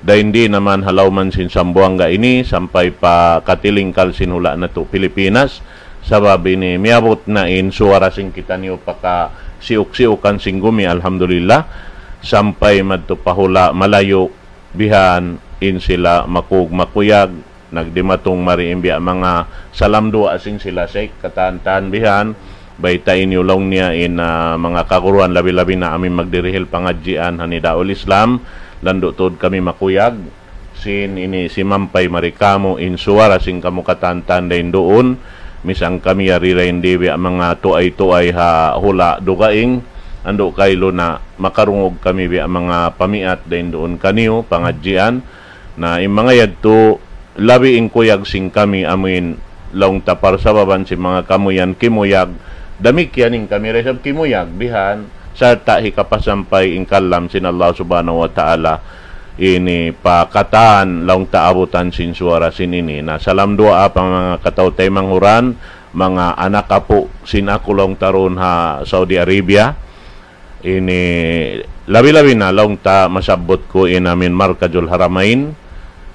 Dayn di naman ha lawm sin Sambuwanga ini, sampay pa katilingkal sin hula' natu' Pilipinas, sabab ini miyabut na in suwara sin kitaniyu pakasiyuk-siyukan sin gumi, alhamdulillah, sampay madtu pa hula' malayu', bihan in sila makug makuyag, nagdimatung mari in biya' manga salam duwaa sin sila Sheikh, katan-katan bihan, baytai niyu laung niya in, ah, manga kaguruhan labi-labi na amin magdirihil pangadjian ha Nidaul Islam, landu' tuud kami makuyag, sin ini simampay mari kāmu' in suwara sin kamu katan-katan dayn duun, misan kami yari dayn di biya' manga tuay-tuay ha hula' dugaing, andu' kailu na makarungug kami biya' manga pamiat dayn duun kaniyu, pangadjian, na in manga yadtu, labi in kuyag sin kami amuin laung ta parsababan sin manga kamu yan kimuyag, damikkiyan in kami da isab kimuyag, bihan, sarta' hikapasampay in kalam sin Allah Subhanahu wa Ta'ala ini pa katan laung ta abutan sin suwara sin ini. Na salam duwaa pa manga kataw-taymanghuran, manga anak apu' sin aku laung ta duun ha Saudi Arabia, ini labi-labi na laung ta masabbut ku in amin Markazul Haramain,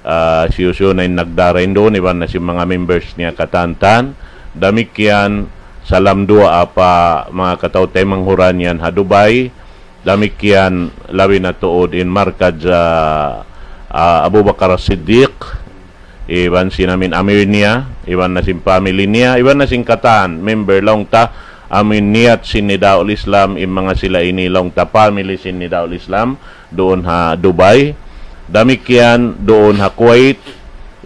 ah, hisiyu-siyu na in nagdara in duun, iban na sin manga members niya katan-katan. Damikkiyan, salam duwaa pa manga kataw-taymanghuran yan ha Dubai. Damikkiyan, labi na tuud in Markaz, ah, ah, Abu Bakar As-Siddiq, iban sin amin amir niya, iban na sin family niya, iban na sin katan member laung ta, amin niyat sin Nidaul Islam, in manga sila ini laung ta family sin Nidaul Islam, duun ha Dubai. Damikkiyan duun ha Kuwait,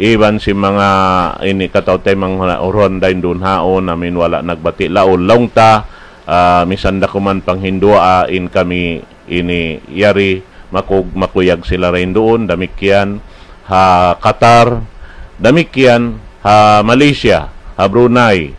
iban sin manga ini kataw-taymanghuran dayn duun haun, amin wala' nagbati' laung ta, ah, misan da kuman panghinduwaa in kami ini yari makug-, makuyag sila dayn duun, damikkiyan ha Qatar, damikkiyan ha Malaysia, ha Brunei,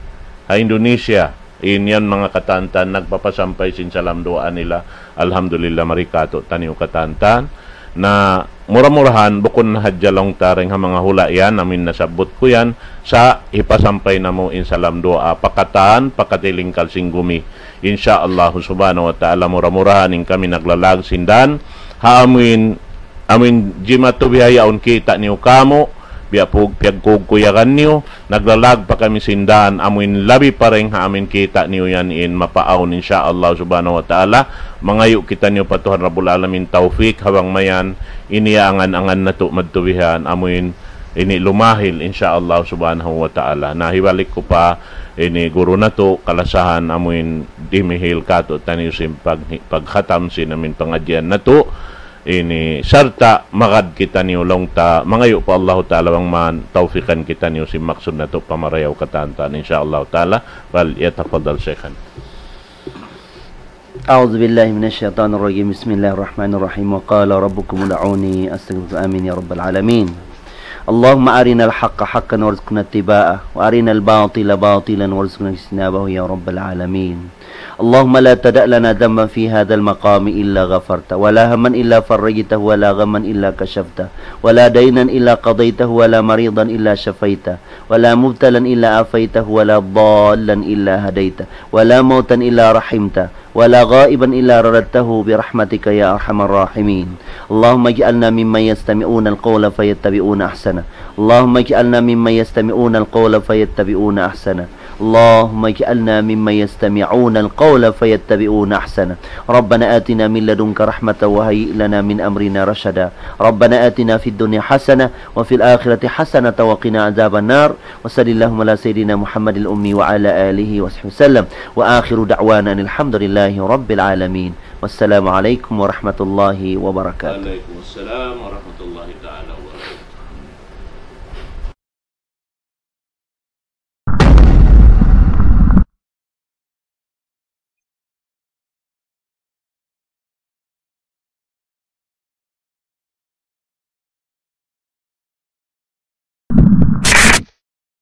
ha Indonesia, in yan manga katan-katan nagpapasampay sin salam duwaa nila, alhamdulillah, mari kātu'niyu katan-katan. Na mura-murahan, bukun na hadja laung ta dayn ha manga hula' yan, amin nasabbut ku yan, sa' hipasampay namu' in salam duwaa pa katan, pa katilingkal sin gumi. Insya Allah Subhanahu wa Ta'ala, mura-murahan in kami naglalag sin dan, ha amuin, amuin jimatu bihaun kita' niyu kāmu', biya' pug-, piyagkugkuyagan niyu, naglalag pa kami sin dan, amuin labi pa dayn ha amuin kita' niyu yan in mapaawn, insya Allah Subhanahu wa Ta'ala, mangayu' kitaniyu pa Tuhan Rabbul Alamin tawfik, ha bang mayan, ini angan-angan natu' madtu bihan, amuin ini lumahil, insya Allah Subhanahu wa Ta'ala. Na hibalik ku pa ini guru natu', kalasahan amuin dimihil kātu'niyu sin pag-, paghatam sin amuin pangadjian natu', ini sarta' magad kitaniyu laung ta, mangayu' pa Allahu Ta'ala bang man tawfikan kitaniyu sin maksud natu' pamarayaw katan-katan, insya Allah Ta'ala. Fal yatafaddal Shaykhana. أعوذ بالله من الشيطان الرجيم. بسم الله الرحمن الرحيم. وقال ربكم ادعوني أستجب لكم. آمين يا رب العالمين. اللهم أرنا الحق حقا وارزقنا اتباعه، وأرنا الباطل باطلا وارزقنا اجتنابه يا رب العالمين. اللهم لا تدع لنا ذنبا في هذا المقام إلا غفرته، ولا هما إلا فرجته، ولا غما إلا كشفته، ولا دينا إلا قضيته، ولا مريضا إلا شفيته، ولا مبتلا إلا عافيته، ولا ضالا إلا هديته، ولا موتا إلا رحمته، ولا غائبا إلا رددته برحمتك يا أرحم الراحمين. اللهم اجعلنا ممن يستمعون القول فيتبعون أحسنه. اللهم اجعلنا ممن يستمعون القول فيتبعون أحسنه. اللهم اجعلنا ممن يستمعون القول فيتبعون أحسنه. ربنا آتنا من لدنك رحمة وهيئ لنا من أمرنا رشدا. ربنا آتنا في الدنيا حسنة وفي الآخرة حسنة وقنا عذاب النار. وصل اللهم على سيدنا محمد الأمي وعلى آله وصحبه وسلم. وآخر دعوانا أن الحمد لله رب العالمين. والسلام عليكم ورحمة الله وبركاته. وعليكم السلام ورحمة الله تعالى